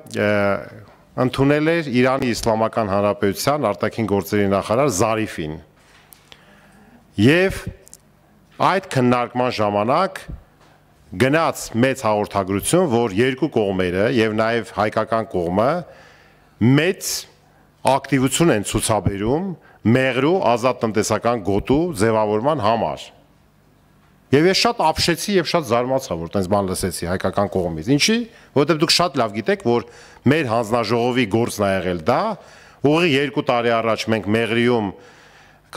ընդունել էր Իրանի Իսլամական Հանրապետության արտաքին գործերի նախարար Զարիֆին։ Եվ այդ քննարկման ժամանակ գնաց մեծ հաղորդագրություն, որ երկու կողմերը եւ նաեւ հայկական կողմը մեծ ակտիվություն են ցուցաբերում մեղրու ազատ տնտեսական գոտու ձևավորման համար։ Եվ ես շատ ապշեցի եւ շատ զարմացա, որ տենց բան լսեցի հայկական կողմից։ Ինչի՞, որովհետեւ դուք շատ լավ գիտեք, որ մեր հանձնաժողովի գործն է եղել դա, ուղղի 2 տարի առաջ մենք Մեղրիում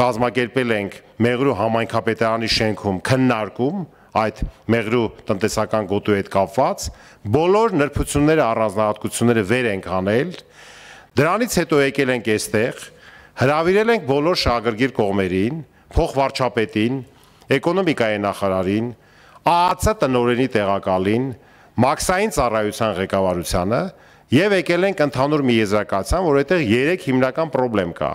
կազմակերպել ենք Մեղրու համայնքապետարանի շենքում քննարկում այդ Մեղրու տնտեսական գոտու հետ կապված, բոլոր նրբությունները, առանձնահատկությունները վեր ենք անել, դրանից հետո եկել ենք այստեղ, հրավիրել ենք բոլոր շահագրգիռ կողմերին, փոխվարչապետին, էկոնոմիկայի նախարարին, ԱԱՑ տնօրենի տեղակալին, մաքսային ծառայության ղեկավարությանը եւ եկել ենք ընդհանուր մի եզրակացության, որ այդտեղ 3 հիմնական խնդրեմ կա։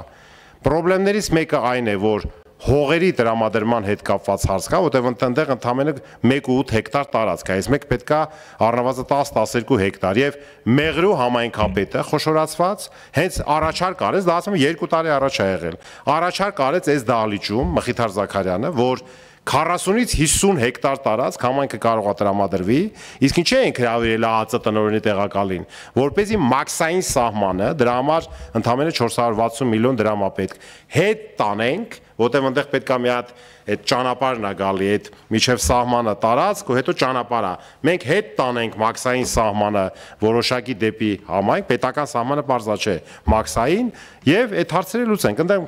Խնդրեմներից մեկը այն է, որ հողերի տրամադրման հետ կապված հարց կա, որտեղ ընդդեմ ընդամենը 1.8 հեկտար տարածք է, այս մեկ պետքա առնվազն 10-12 հեկտար եւ Մեղրու համայնքապետը խոշորացված հենց առաջարկ արեց, դա ասում եմ 2 տարի առաջ է եղել։ Առաջարկ արեց այս դահլիճում Մխիթար Զաքարյանը, որ 40-ից 50 հեկտար տարածք համայնքը կարող է տրամադրվի, իսկ ինչի ենք հրավիրել ԱԱՑ տնօրենի տեղակալին, որպեսզի մաքսային սահմանը, դրա համար ընդամենը 460 միլիոն դրամ է պետք, հետ տանենք, որտեղ այնտեղ պետք է մի հատ այդ ճանապարհն է գալի, այդ միջև սահմանը տարածք ու հետո ճանապարհը։ Մենք հետ տանենք մաքսային սահմանը որոշակի դեպի համայնք, պետական սահմանը բարձա չէ, մաքսային եւ այդ հարցերը լուծենք։ Այնտեղ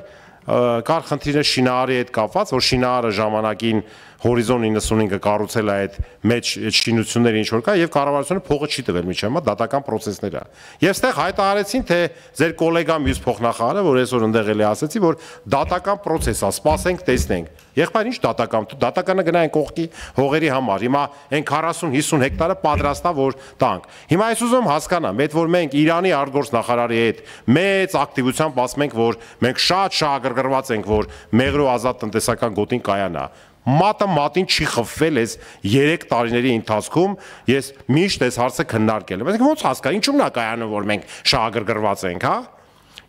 կար խնդիրը շինարարի հետ կապված, որ շինարարը ժամանակին Հորիզոն 95-ը կառուցել է այդ մեջ շինությունները ինչ որ կա եւ կառավարությունը փողը չի տվել միջև, դատական process-ներ է։ Եվ ստեղ հայտարարեցին, թե ձեր գոլեգա մյուս փոխնախարարը, որ այսօր ընդեղ էլի ասեցի, որ դատական process է, սպասենք, տեսնենք։ Եղբայր ինչ դատական, դատականը գնային կողքի հողերի համար։ Հիմա այն 40-50 հեկտարը պատրաստ է, որ տանք։ Հիմա այս ուզում հասկանամ, այդ որ մենք Իրանի արտգործ նախարարի հետ մեծ ակտիվությամբ ասում ենք, որ մենք շատ շահագրգռված ենք, որ Մեղրու ազատ տնտեսական գոտին կայանա։ Մատը մատին չի խփվել այս 3 տարիների ընթացքում, ես միշտ այս հարցը քննարկել եմ։ Մենք ոնց հասկանա, ինչու՞մն է կայանում, որ մենք շահագրգռված ենք, հա։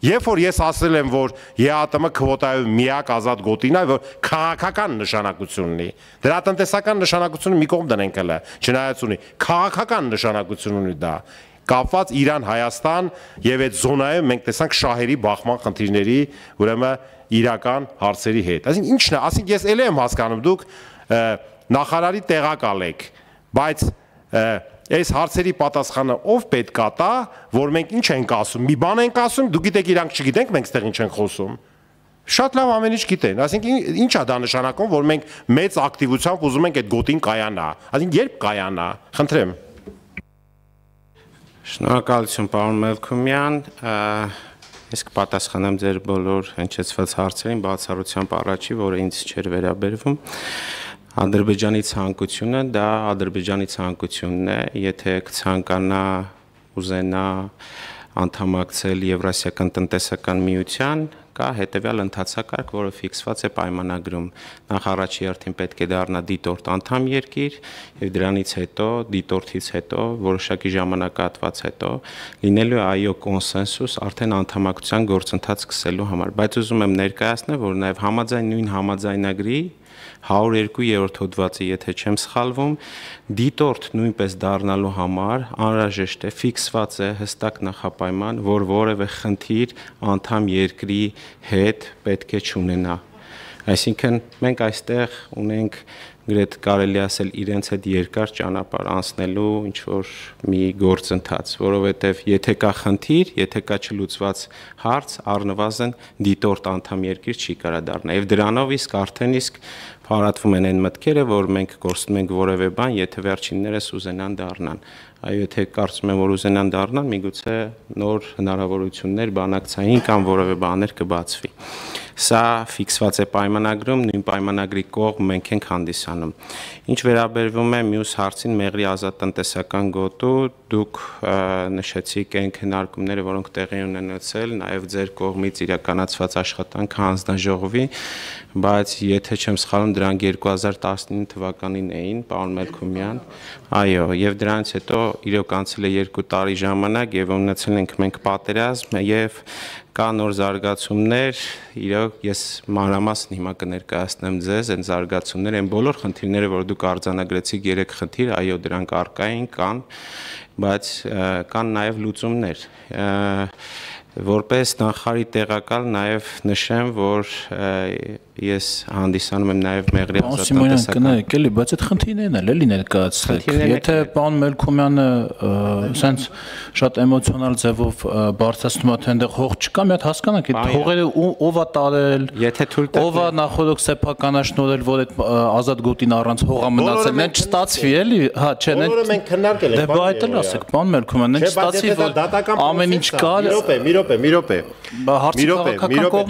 Երբ որ ես ասել եմ, որ ԵԱՏՄ քվոտայով միակ ազատ գոտին է, որ քաղաքական նշանակություն ունի, դրա տնտեսական նշանակությունը մի կողմ դնենք հələ, չնայած ունի, քաղաքական նշանակություն ունի դա, կապված Իրան-Հայաստան եւ այդ զոնայում մենք տեսանք շահերի բախման խնդիրների, ուրեմն իրական հարցերի հետ։ Այսինքն ինչն է, ասենք ես ելի եմ հասկանում, դուք նախարարի տեղակալ եք, բայց այս հարցերի պատասխանը ով պետք է տա, որ մենք ինչ ենք ասում, մի բան ենք ասում, դուք գիտեք իրանք չգիտենք, մենք ստեղ ինչ ենք խոսում։ Շատ լավ ամեն ինչ գիտեն, այսինքն ինչ է դա նշանակում, որ մենք մեծ ակտիվությամբ ուզում ենք այդ գոտին կայանա, այսինքն երբ կայանա, խնդրեմ։ Շնորհակալություն, պարոն Մելքումյան, ես կպատասխանեմ ձեր բոլոր հնչեցված հարցերին, բացառությամբ առաջի, որը ինձ չէր վերաբերվում։ Ադրբեջանի ցանկությունը դա Ադրբեջանի ցանկությունն է, եթե կցանկանա ուզենա անդամակցել Եվրասիական տնտեսական միության, կա հետևյալ ընթացակարգ, որը ֆիքսված է պայմանագրում։ Նախ առաջի հերթին պետք է դառնա դիտորդ անդամ երկիր եւ դրանից հետո դիտորդից հետո որոշակի ժամանակահատված հետո լինելու է այո կոնսենսուս արդեն անդամակցության գործընթաց սկսելու համար, բայց ուզում եմ ներկայացնել, որ նաեւ նույն համաձայնագրի 102-րդ հոդվածը, եթե չեմ սխալվում, դիտորդ նույնպես դառնալու համար անհրաժեշտ է ֆիքսված է հստակ նախապայման, որ որևէ խնդիր անդամ երկրի հետ պետք է չունենա։ Այսինքն մենք այստեղ ունենք գրեթե կարելի ասել իրենց հետ երկար ճանապարհ անցնելու ինչ որ մի գործընթաց, որովհետև եթե կա խնդիր, եթե կա չլուծված հարց, առնվազն դիտորդ անդամ երկիր չի կարա դառնա։ Եվ դրանով իսկ արդեն իսկ փարատվում են այն մտքերը, որ մենք կորցնում ենք որևէ բան, եթե վերջիններս ուզենան դառնան։ Այո, եթե կարծում եմ, որ ուզենան դառնան, միգուցե նոր հնարավորություններ բանակցային կամ որևէ բաներ կբացվի։ Սա ֆիքսված է պայմանագրում, նույն պայմանագրի կողմ մենք ենք հանդիսանում։ Ինչ վերաբերվում է մյուս հարցին մեղրի ազատ տնտեսական գոտու, դուք նշեցիք այն քննարկումները, որոնք տեղի ունեցել, նաև ձեր կողմից իրականացված աշխատանքը հանձնաժողովի, բայց եթե չեմ սխալվում, դրանք 2019 թվականին էին, պարոն Մելքումյան, այո, եւ դրանից հետո իրոք անցել է 2 տարի ժամանակ եւ ունեցել ենք մենք պատերազմ եւ կա նոր զարգացումներ, իրոք ես մանրամասն հիմա կներկայացնեմ ձեզ այն զարգացումները, այն բոլոր խնդիրները, որ դուք արձանագրեցիք 3 խնդիր, այո, դրանք առկա են, կան, բայց կան նաև լուծումներ։ Որպես նախարարի տեղակալ նաև նշեմ, որ ես հանդիսանում եմ նաև մեղրի ազատ տնտեսական գնահատելի, բայց այդ խնդիրներն էլ էլի ներկայացրեք։ Եթե պարոն Մելքումյանը ասենց շատ էմոցիոնալ ձևով բարձրացնում է, թե այնտեղ հող չկա, մի հատ հասկանանք, այդ հողերը ով է տարել, եթե թույլ տա, ով է նախորդ սեփականաշնորհել, որ այդ ազատ գոտին առանց հողա մնացել, նեն չստացվի էլի, հա, չէ, նեն բոլորը մենք քննարկել ենք։ Դե բա այդ էլ ասեք, պարոն Մելքումյան, նեն չստացվի, որ ամեն ինչ կար։ Մի րոպե։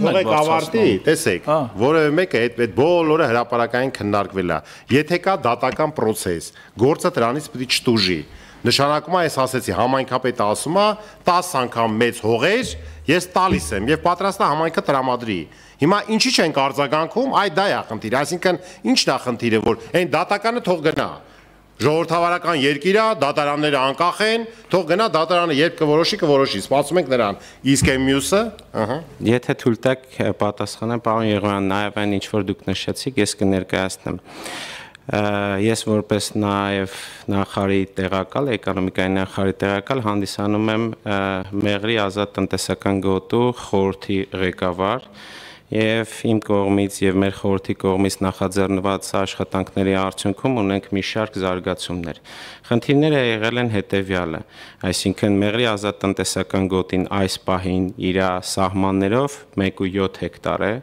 Թողեք ավարտի, տեսեք, որևէ մեկը այդ բոլորը հրապարակային քննարկվել է։ Եթե կա դատական process, գործը դրանից պետք է չտուժի։ Նշանակում է, ես ասեցի, համայնքապետը ասում է 10 անգամ մեծ հողեր ես տալիս եմ եւ պատրաստ է համայնքը տրամադրի։ Հիմա ինչի չենք արձագանքում, այ դա է խնդիրը, այսինքն ինչն է խնդիրը, որ այն դատականը թող գնա։ Ժողովրդավարական երկիր է, դատարանները անկախ են, թող գնա դատարանը երբ կորոշի, սպասում ենք նրան։ Իսկ այն մյուսը, Եթե թույլ տաք պատասխանեմ, պարոն Եղոյան, նաև այն ինչ որ դուք նշեցիք, ես կներկայացնեմ։ Ես որպես նաև նախարարի տեղակալ, էկոնոմիկայի նախարարի տեղակալ հանդիսանում եմ մեղրի ազատ տնտեսական գոտու խորհրդի ղեկավար եւ իմ կողմից եւ մեր խորհրդի կողմից նախաձեռնված աշխատանքների արդյունքում ունենք մի շարք զարգացումներ։ Խնդիրները եղել են հետեւյալը, այսինքն մեղրի ազատ տնտեսական գոտին այս պահին իր սահմաններով 1.7 հեկտար է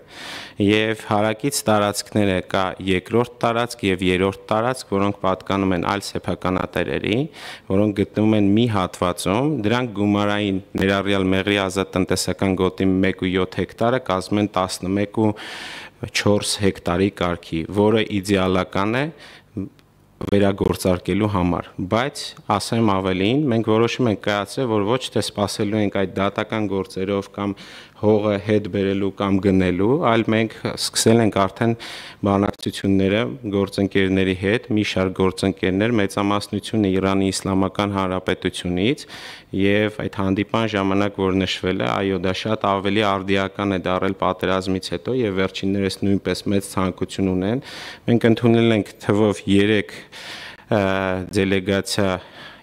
եւ հարակից տարածքները կա երկրորդ տարածք եւ երրորդ տարածք, որոնք պատկանում են այլ սեփականատերերի, որոնք գտնվում են մի հատվածում, դրանք գումարային ներառյալ մեղրի ազատ տնտեսական գոտի 1.7 հեկտարը կազմում են 11.4 հեկտարի կարգի, որը իդեալական է վերագործարկելու համար, բայց ասեմ ավելին, մենք որոշում ենք կայացրել, որ ոչ թե սպասելու ենք այդ դատական գործերով կամ հողը հետ բերելու կամ գնելու, այլ մենք սկսել ենք արդեն բանակցությունները գործընկերների հետ, մի շարք գործընկերներ, մեծամասնությունը Իրանի Իսլամական Հանրապետությունից եւ այդ հանդիպան ժամանակ, որ նշվել է, այո, դա շատ ավելի արդիական է դարել պատերազմից հետո եւ վերջիններս նույնպես մեծ ցանկություն ունեն։ Մենք ընդունել ենք թվով 3 դելեգացիա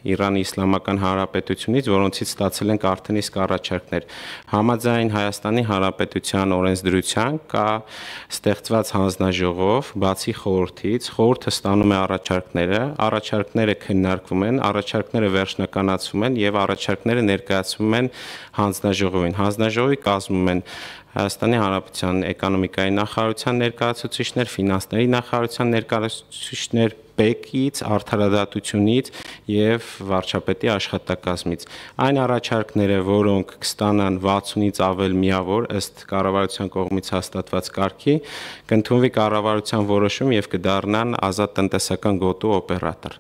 Իրանի Իսլամական Հանրապետությունից, որոնցից ստացել ենք արդեն իսկ առաջարկներ։ Համաձայն Հայաստանի Հանրապետության օրենսդրության կա ստեղծված հանձնաժողով, բացի խորհրդից, խորհուրդը ստանում է առաջարկները քննարկվում են, առաջարկները վերջնականացվում են եւ առաջարկները ներկայացվում են հանձնաժողովին։ Հանձնաժողովի կազմում են Հայաստանի Հանրապետության էկոնոմիկայի նախարարության ներկայացուցիչներ, ֆինանսների նախարարության ներկայացուցիչներ, ՊԵԿ-ից, Արդարադատությունից եւ վարչապետի աշխատակազմից։ Այն առաջարկները, որոնք կստանան 60-ից ավել միավոր ըստ կառավարության կողմից հաստատված կարգի, կընդունվի կառավարության որոշում եւ կդառնան ազատ տնտեսական գոտու օպերատոր։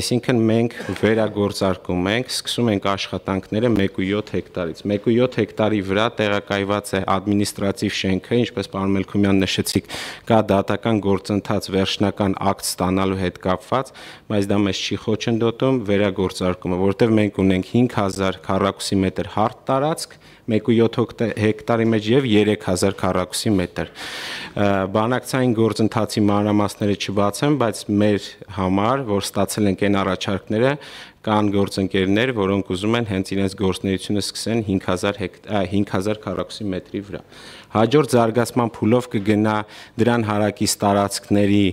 Այսինքն մենք վերագործարկում ենք, սկսում ենք աշխատանքները 1.7 հեկտարից։ 1.7 հեկտարի վրա տեղակայված է ադմինիստրատիվ շենքը, ինչպես պարոն Մելքումյան նշեցիք, կա դատական գործընթաց վերջնական ակտ ստանալու հետ կապված, բայց դա մեզ չի խոչընդոտում վերագործարկումը, որտեղ մենք ունենք 5000 քառակուսի մետր հարթ տարածք, 1.7 հեկտարի մեջ եւ 3000 քառակուսի մետր։ Բանակցային գործընթացի մանրամասները չբացեմ, բայց մեր համար, որ ստացել ենք այն առաջարկները, կան գործընկերներ, որոնք ուզում են հենց իրենց գործունեությունը սկսեն 5000 քառակուսի մետրի վրա։ Հաջորդ զարգացման փուլով կգնա դրան հարակից տարածքների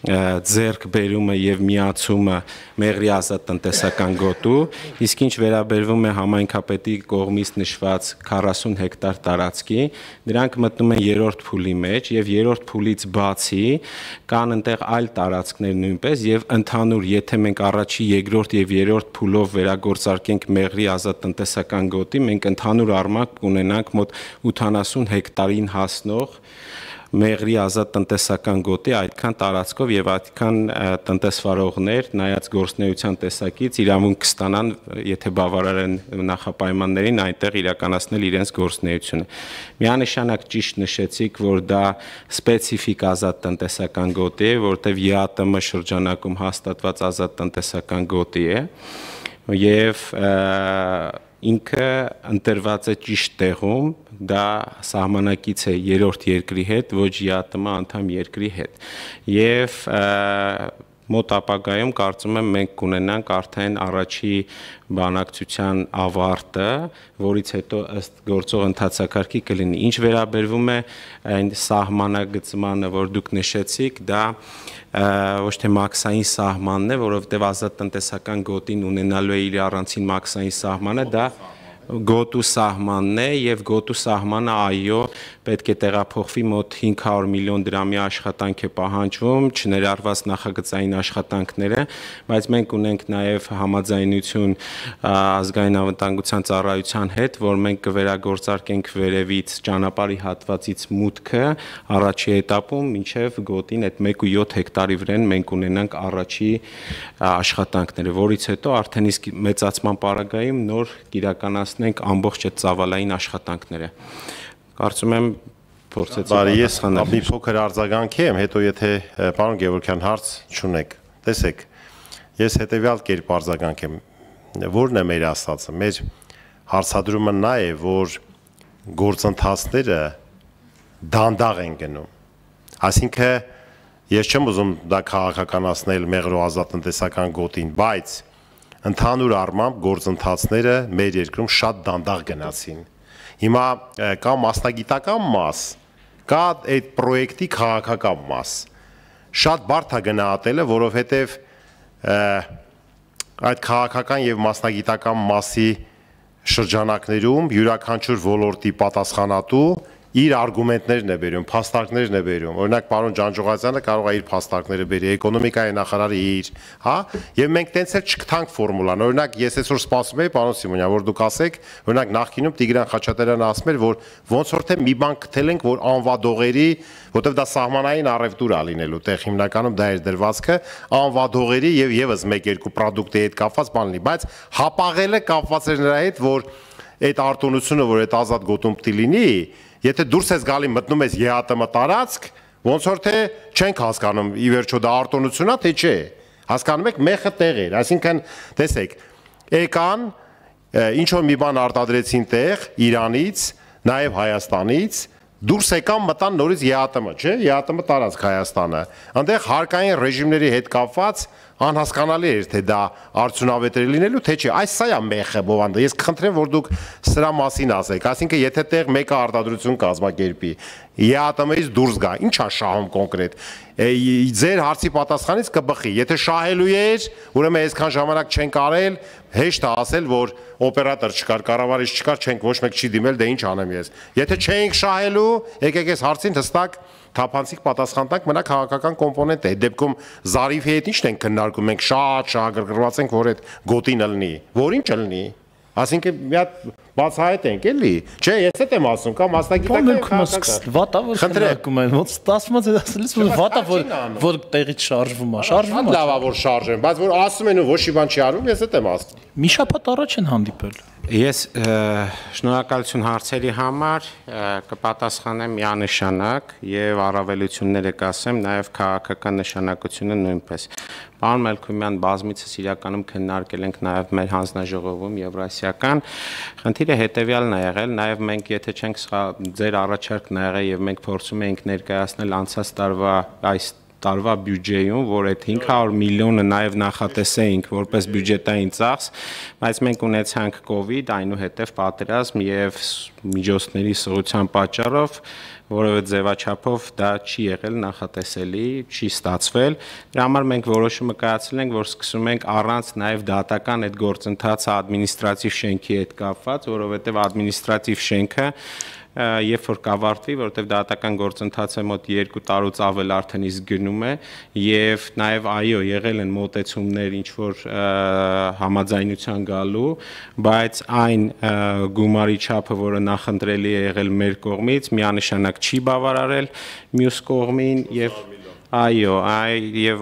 ձեռքբերումը եւ միացումը Մեղրի ազատ տնտեսական գոտու, իսկ ինչ վերաբերվում է համայնքապետի կողմից նշված 40 հեկտար տարածքի, դրանք մտնում են երրորդ փուլի մեջ եւ երրորդ փուլից բացի կան այնտեղ այլ տարածքներ նույնպես եւ ընդհանուր, եթե մենք առաջի, երկրորդ եւ երրորդ փուլով վերագործարկենք Մեղրի ազատ տնտեսական գոտի, մենք ընդհանուր առմամբ կունենանք մոտ 80 հեկտարին հասնող Մեղրի ազատ տնտեսական գոտի այդքան տարածքով եւ այդքան տնտեսվարողներ նայած գործնեության տեսակից իրավունք կստանան, եթե բավարար են նախապայմաններին, այնտեղ իրականացնել իրենց գործնեությունը։ Միանշանակ ճիշտ նշեցիք, որ դա սպეციფიկ ազատ տնտեսական գոտի է, որտեղ ԵԱՏՄ շրջանակում հաստատված ազատ տնտեսական գոտի է եւ ինքը ընտրված է ճիշտ տեղում, դա սահմանակից է երրորդ երկրի հետ, ոչ ԵԱՏՄ անդամ երկրի հետ։ Եվ մոտ ապագայում կարծում եմ մենք կունենանք արդեն առաջի բանակցության ավարտը, որից հետո ըստ գործող ընթացակարգի կլինի։ Ինչ վերաբերվում է այն սահմանագծմանը, որ դուք նշեցիք, դա ոչ թե մաքսային սահմանն է, որովհետև ազատ տնտեսական գոտին ունենալու է իր առանցին մաքսային սահմանը, դա գոտու սահմանն է եւ գոտու սահմանը այո պետք է տեղափոխվի մոտ 500 միլիոն դրամի աշխատանք է պահանջվում, չներառված նախագծային աշխատանքները, բայց մենք ունենք նաեւ համաձայնություն ազգային անվտանգության ծառայության հետ, որ մենք կվերագործարկենք վերևից ճանապարհի հատվածից մուտքը առաջի этаպում, մինչեւ գոտին այդ 1.7 հեկտարի վրան մենք ունենանք առաջի աշխատանքները, որից հետո արդեն իսկ մեծացման պարագայում նոր կիրականացնենք ամբողջ այդ ծավալային աշխատանքները։ Կարծում եմ փորձեցի ես մի փոքր արձագանքի եմ, հետո եթե պարոն Գևորգյան հարց չունեք։ Տեսեք, ես հետեւյալ կերպ արձագանքեմ, որն է մեր ասածը, մեր հարցադրումը նա է, որ գործընթացները դանդաղ են գնում։ Այսինքն ես չեմ ուզում դա քաղաքականացնել Մեղրո ազատ տնտեսական գոտին, բայց ընդհանուր առմամբ գործընթացները մեր երկրում շատ դանդաղ գնացին։ Հիմա կա մասնագիտական մաս, կա այդ պրոյեկտի քաղաքական մաս։ Շատ բարդ է գնահատելը, որովհետև այդ քաղաքական եւ մասնագիտական մասի շրջանակներում յուրաքանչյուր ոլորտի պատասխանատու իր արգումենտներն է բերում, փաստարկներն է բերում։ Օրինակ պարոն Ջանջուղազյանը կարող է իր փաստարկները բերի, էկոնոմիկայի նախարարը իր, հա, եւ մենք տենց էլ չգտանք ֆորմուլան։ Օրինակ ես այսօր սպասում եի պարոն Սիմոնյան, որ դուք ասեք, օրինակ նախկինում Տիգրան Խաչատրյանը ասում էր, որ ոնց որ թե մի բան գտել ենք, որ անվադողերի, որտեվ դա սահմանային առևտուր է լինելու, տեղ հիմնականում դա էր դրվածքը, անվադողերի եւ եւս 1-2 պրոդուկտի հետ կապված բան լինի, բայց հապաղելը կապված էր նրա հետ, որ այդ արտոնությունը, որ այդ ազատ գոտում պիտի լինի, եթե դուրս ես գալի մտնում ես ԵԱՏՄ տարածք, ոնց որ թե չենք հասկանում ի վերջո դա արտոնություն է, թե չէ։ Հասկանում եք, մեղը տեղ էր, այսինքն տեսեք, եկան ինչ որ մի բան արտադրեցին տեղ Իրանից, նաև Հայաստանից, դուրս եկան մտան նորից ԵԱՏՄ, չէ՞, ԵԱՏՄ տարածք Հայաստանը։ Այնտեղ հարկային ռեժիմների հետ կապված անհասկանալի էր, թե դա արդյունավետ է լինելու, թե չէ։ Այս սա է մեղը, բովանդը։ Ես կխնդրեմ, որ դուք սրա մասին ասեք։ Այսինքն, եթե տեղ մեկը արտադրություն կազմակերպի, ԵԱՏՄ-ից դուրս գա, ի՞նչ է շահում կոնկրետ։ Ձեր հարցի պատասխանից կբխի։ Եթե շահելու էր, ուրեմն այսքան ժամանակ չենք արել, հեշտ է ասել, որ օպերատոր չկար, կառավարիչ չկար, չենք ոչ մեկ չի դիմել, դե ինչ անեմ ես։ Եթե չենք շահելու, եկեք այս հարցին հստակ թափանցիկ պատասխան տանք, մնա քաղաքական կոմպոնենտ է։ Այդ դեպքում Զարիֆի հետ ի՞նչն ենք քննարկում, մենք շատ շահագրգռված ենք, որ այդ գոտին ըլնի, որին չլնի։ Այսինքն մի հատ բացահայտ ենք, էլի։ Չէ, ես դա եմ ասում, կամ մասնագիտական վատավոր քննարկում են, ոնց 10-ից ասելիս որ վատա որ տեղից շարժվում է, շարժվում է։ Լավ է որ շարժեն, բայց որ ասում են ու ոչ մի բան չի արվում, ես դա եմ ասում։ Մի շաբաթ առաջ են հանդիպել։ Ես շնորհակալություն հարցերի համար կպատասխանեմ միանշանակ եւ առավելությունները կասեմ նաեւ քաղաքական նշանակությունը նույնպես։ Պարոն Մելքումյան, բազմիցս իրականում քննարկել ենք նաեւ մեր հանձնաժողովում եվրասիական խնդիրը հետեւյալն է եղել, նաեւ մենք եթե չենք ձեր առաջարկն ա եղել եւ մենք փորձում ենք ներկայացնել անցած տարվա այս տարվա բյուջեում, որ այդ 500 միլիոնը նաև նախատեսեինք որպես բյուջետային ծախս, բայց մենք ունեցանք COVID, այնուհետև պատերազմ եւ միջոցների սղության պատճառով, որովհետեւ ձևաչափով դա չի եղել նախատեսելի, չի ստացվել։ Դրա համար մենք որոշումը կայացրել ենք, որ սկսում ենք առանց նաև դատական այդ գործընթացը ադմինիստրատիվ շենքի հետ կապված, որովհետեւ ադմինիստրատիվ շենքը երբ որ կավարտվի, որովհետև դատական գործընթացը մոտ 2 տարուց ավել արդեն իսկ գնում է եւ նաեւ այո եղել են մոտեցումներ ինչ որ համաձայնության գալու, բայց այն գումարի չափը, որը նախընտրելի է եղել մեր կողմից, միանշանակ չի բավարարել մյուս կողմին եւ այո, եւ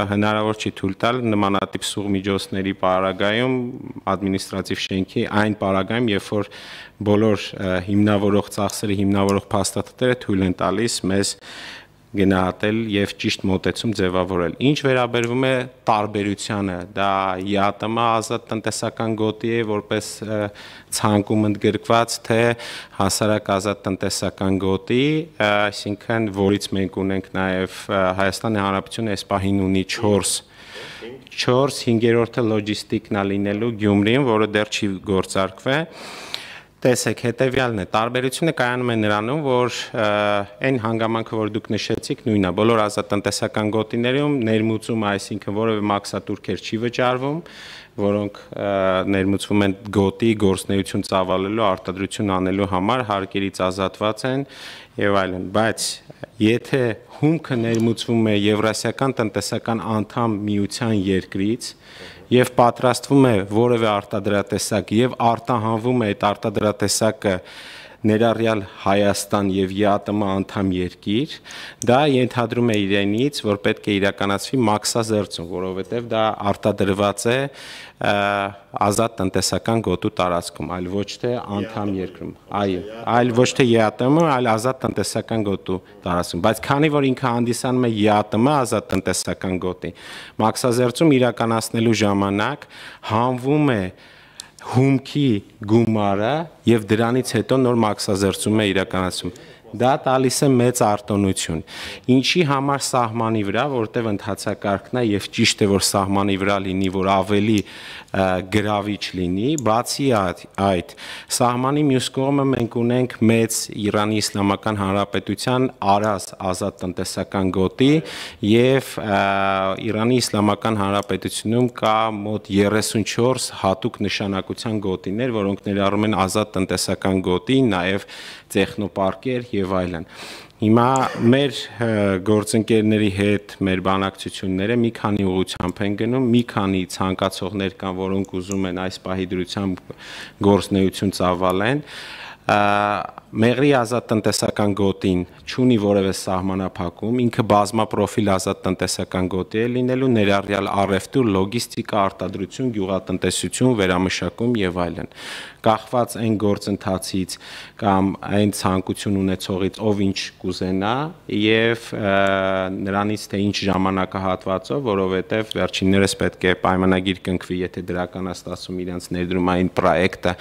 հնարավոր չի թույլ տալ նմանատիպ սուղ միջոցների պարագայում ադմինիստրատիվ շենքի այն պարագայում, երբ որ բոլոր հիմնավորող ծախսերը, հիմնավորող փաստաթղթերը թույլ են տալիս մեզ գնահատել եւ ճիշտ մոտեցում ձևավորել։ Ինչ վերաբերվում է տարբերությանը, դա ԵԱՏՄ ազատ տնտեսական գոտի է որպես ցանկում ընդգրկված, թե հասարակ ազատ տնտեսական գոտի, այսինքն որից մենք ունենք նաեւ Հայաստանի Հանրապետությունը այս պահին ունի 4, 5-րդը լոջիստիկն է լինելու Գյումրին, որը դեռ չի գործարկվել։ Տեսեք, հետևյալն է, տարբերությունը կայանում է նրանում, որ այն հանգամանքը, որ դուք նշեցիք, նույնն է, բոլոր ազատ տնտեսական գոտիներում ներմուծումը, այսինքն որևէ մաքսատուրքեր չի վճարվում, որոնք ներմուծվում են գոտի գործունեություն ծավալելու, արտադրություն անելու համար, հարկերից ազատված են եւ այլն, բայց եթե հումքը ներմուծվում է Եվրասիական տնտեսական անդամ միության երկրից եւ պատրաստվում է որևէ արտադրատեսակ եւ արտահանվում է այդ արտադրատեսակը ներառյալ Հայաստան եւ ԵԱՏՄ անդամ երկիր, դա ենթադրում է իրենից, որ պետք է իրականացվի մաքսազերծում, որովհետեւ դա արտադրված է ազատ տնտեսական գոտու տարածքում, այլ ոչ թե անդամ երկրում, այո, այլ ոչ թե ԵԱՏՄ, այլ ազատ տնտեսական գոտու տարածքում, բայց քանի որ ինքը հանդիսանում է ԵԱՏՄ ազատ տնտեսական գոտի, մաքսազերծում իրականացնելու ժամանակ հանվում է հումքի գումարը եւ դրանից հետո նոր մաքսազերծում է իրականացում։ Դա տալիս է մեծ արտոնություն։ Ինչի համար սահմանի վրա, որտեղ ընթացակարգն է եւ ճիշտ է որ սահմանի վրա լինի, որ ավելի գրավիչ լինի, բացի այդ սահմանի մյուս կողմը մենք ունենք մեծ Իրանի Իսլամական Հանրապետության Արազ ազատ տնտեսական գոտի եւ Իրանի Իսլամական Հանրապետությունում կա մոտ 34 հատուկ նշանակության գոտիներ, որոնք ներառում են ազատ տնտեսական գոտի, նաեւ տեխնոպարկեր եւ այլն։ Հիմա մեր գործընկերների հետ մեր բանակցությունները մի քանի ուղղությամբ են գնում, մի քանի ցանկացողներ կան, որոնք ուզում են այս պահի դրությամբ գործնեություն ծավալեն։ Մեղրի ազատ տնտեսական գոտին չունի որևէ սահմանափակում, ինքը բազմապրոֆիլ ազատ տնտեսական գոտի է լինելու, ներառյալ առևտուր, լոգիստիկա, արտադրություն, գյուղատնտեսություն, վերամշակում եւ այլն։ Կախված այն գործընթացից կամ այն ցանկություն ունեցողից, ով ինչ կուզենա եւ նրանից թե ինչ ժամանակահատվածով, որովհետեւ վերջիններս պետք է պայմանագիր կնքվի, եթե դրականաստացում իրենց ներդրումային պրոյեկտը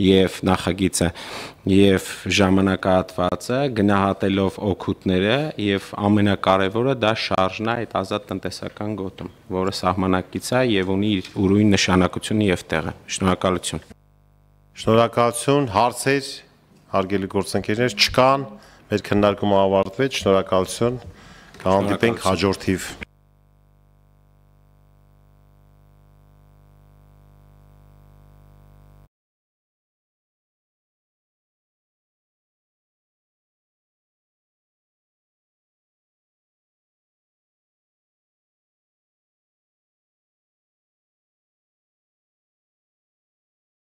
եւ նախագիծը եւ ժամանակահատվածը գնահատելով օգուտները եւ ամենակարևորը դա շարժն է այդ ազատ տնտեսական գոտում, որը սահմանակից է եւ ունի իր ուրույն նշանակությունը եւ տեղը։ Շնորհակալություն։ Շնորհակալություն, հարցեր, հարգելի գործընկերներ չկան, մեր քննարկումը ավարտվեց, շնորհակալություն, կհանդիպենք հաջորդ թիվ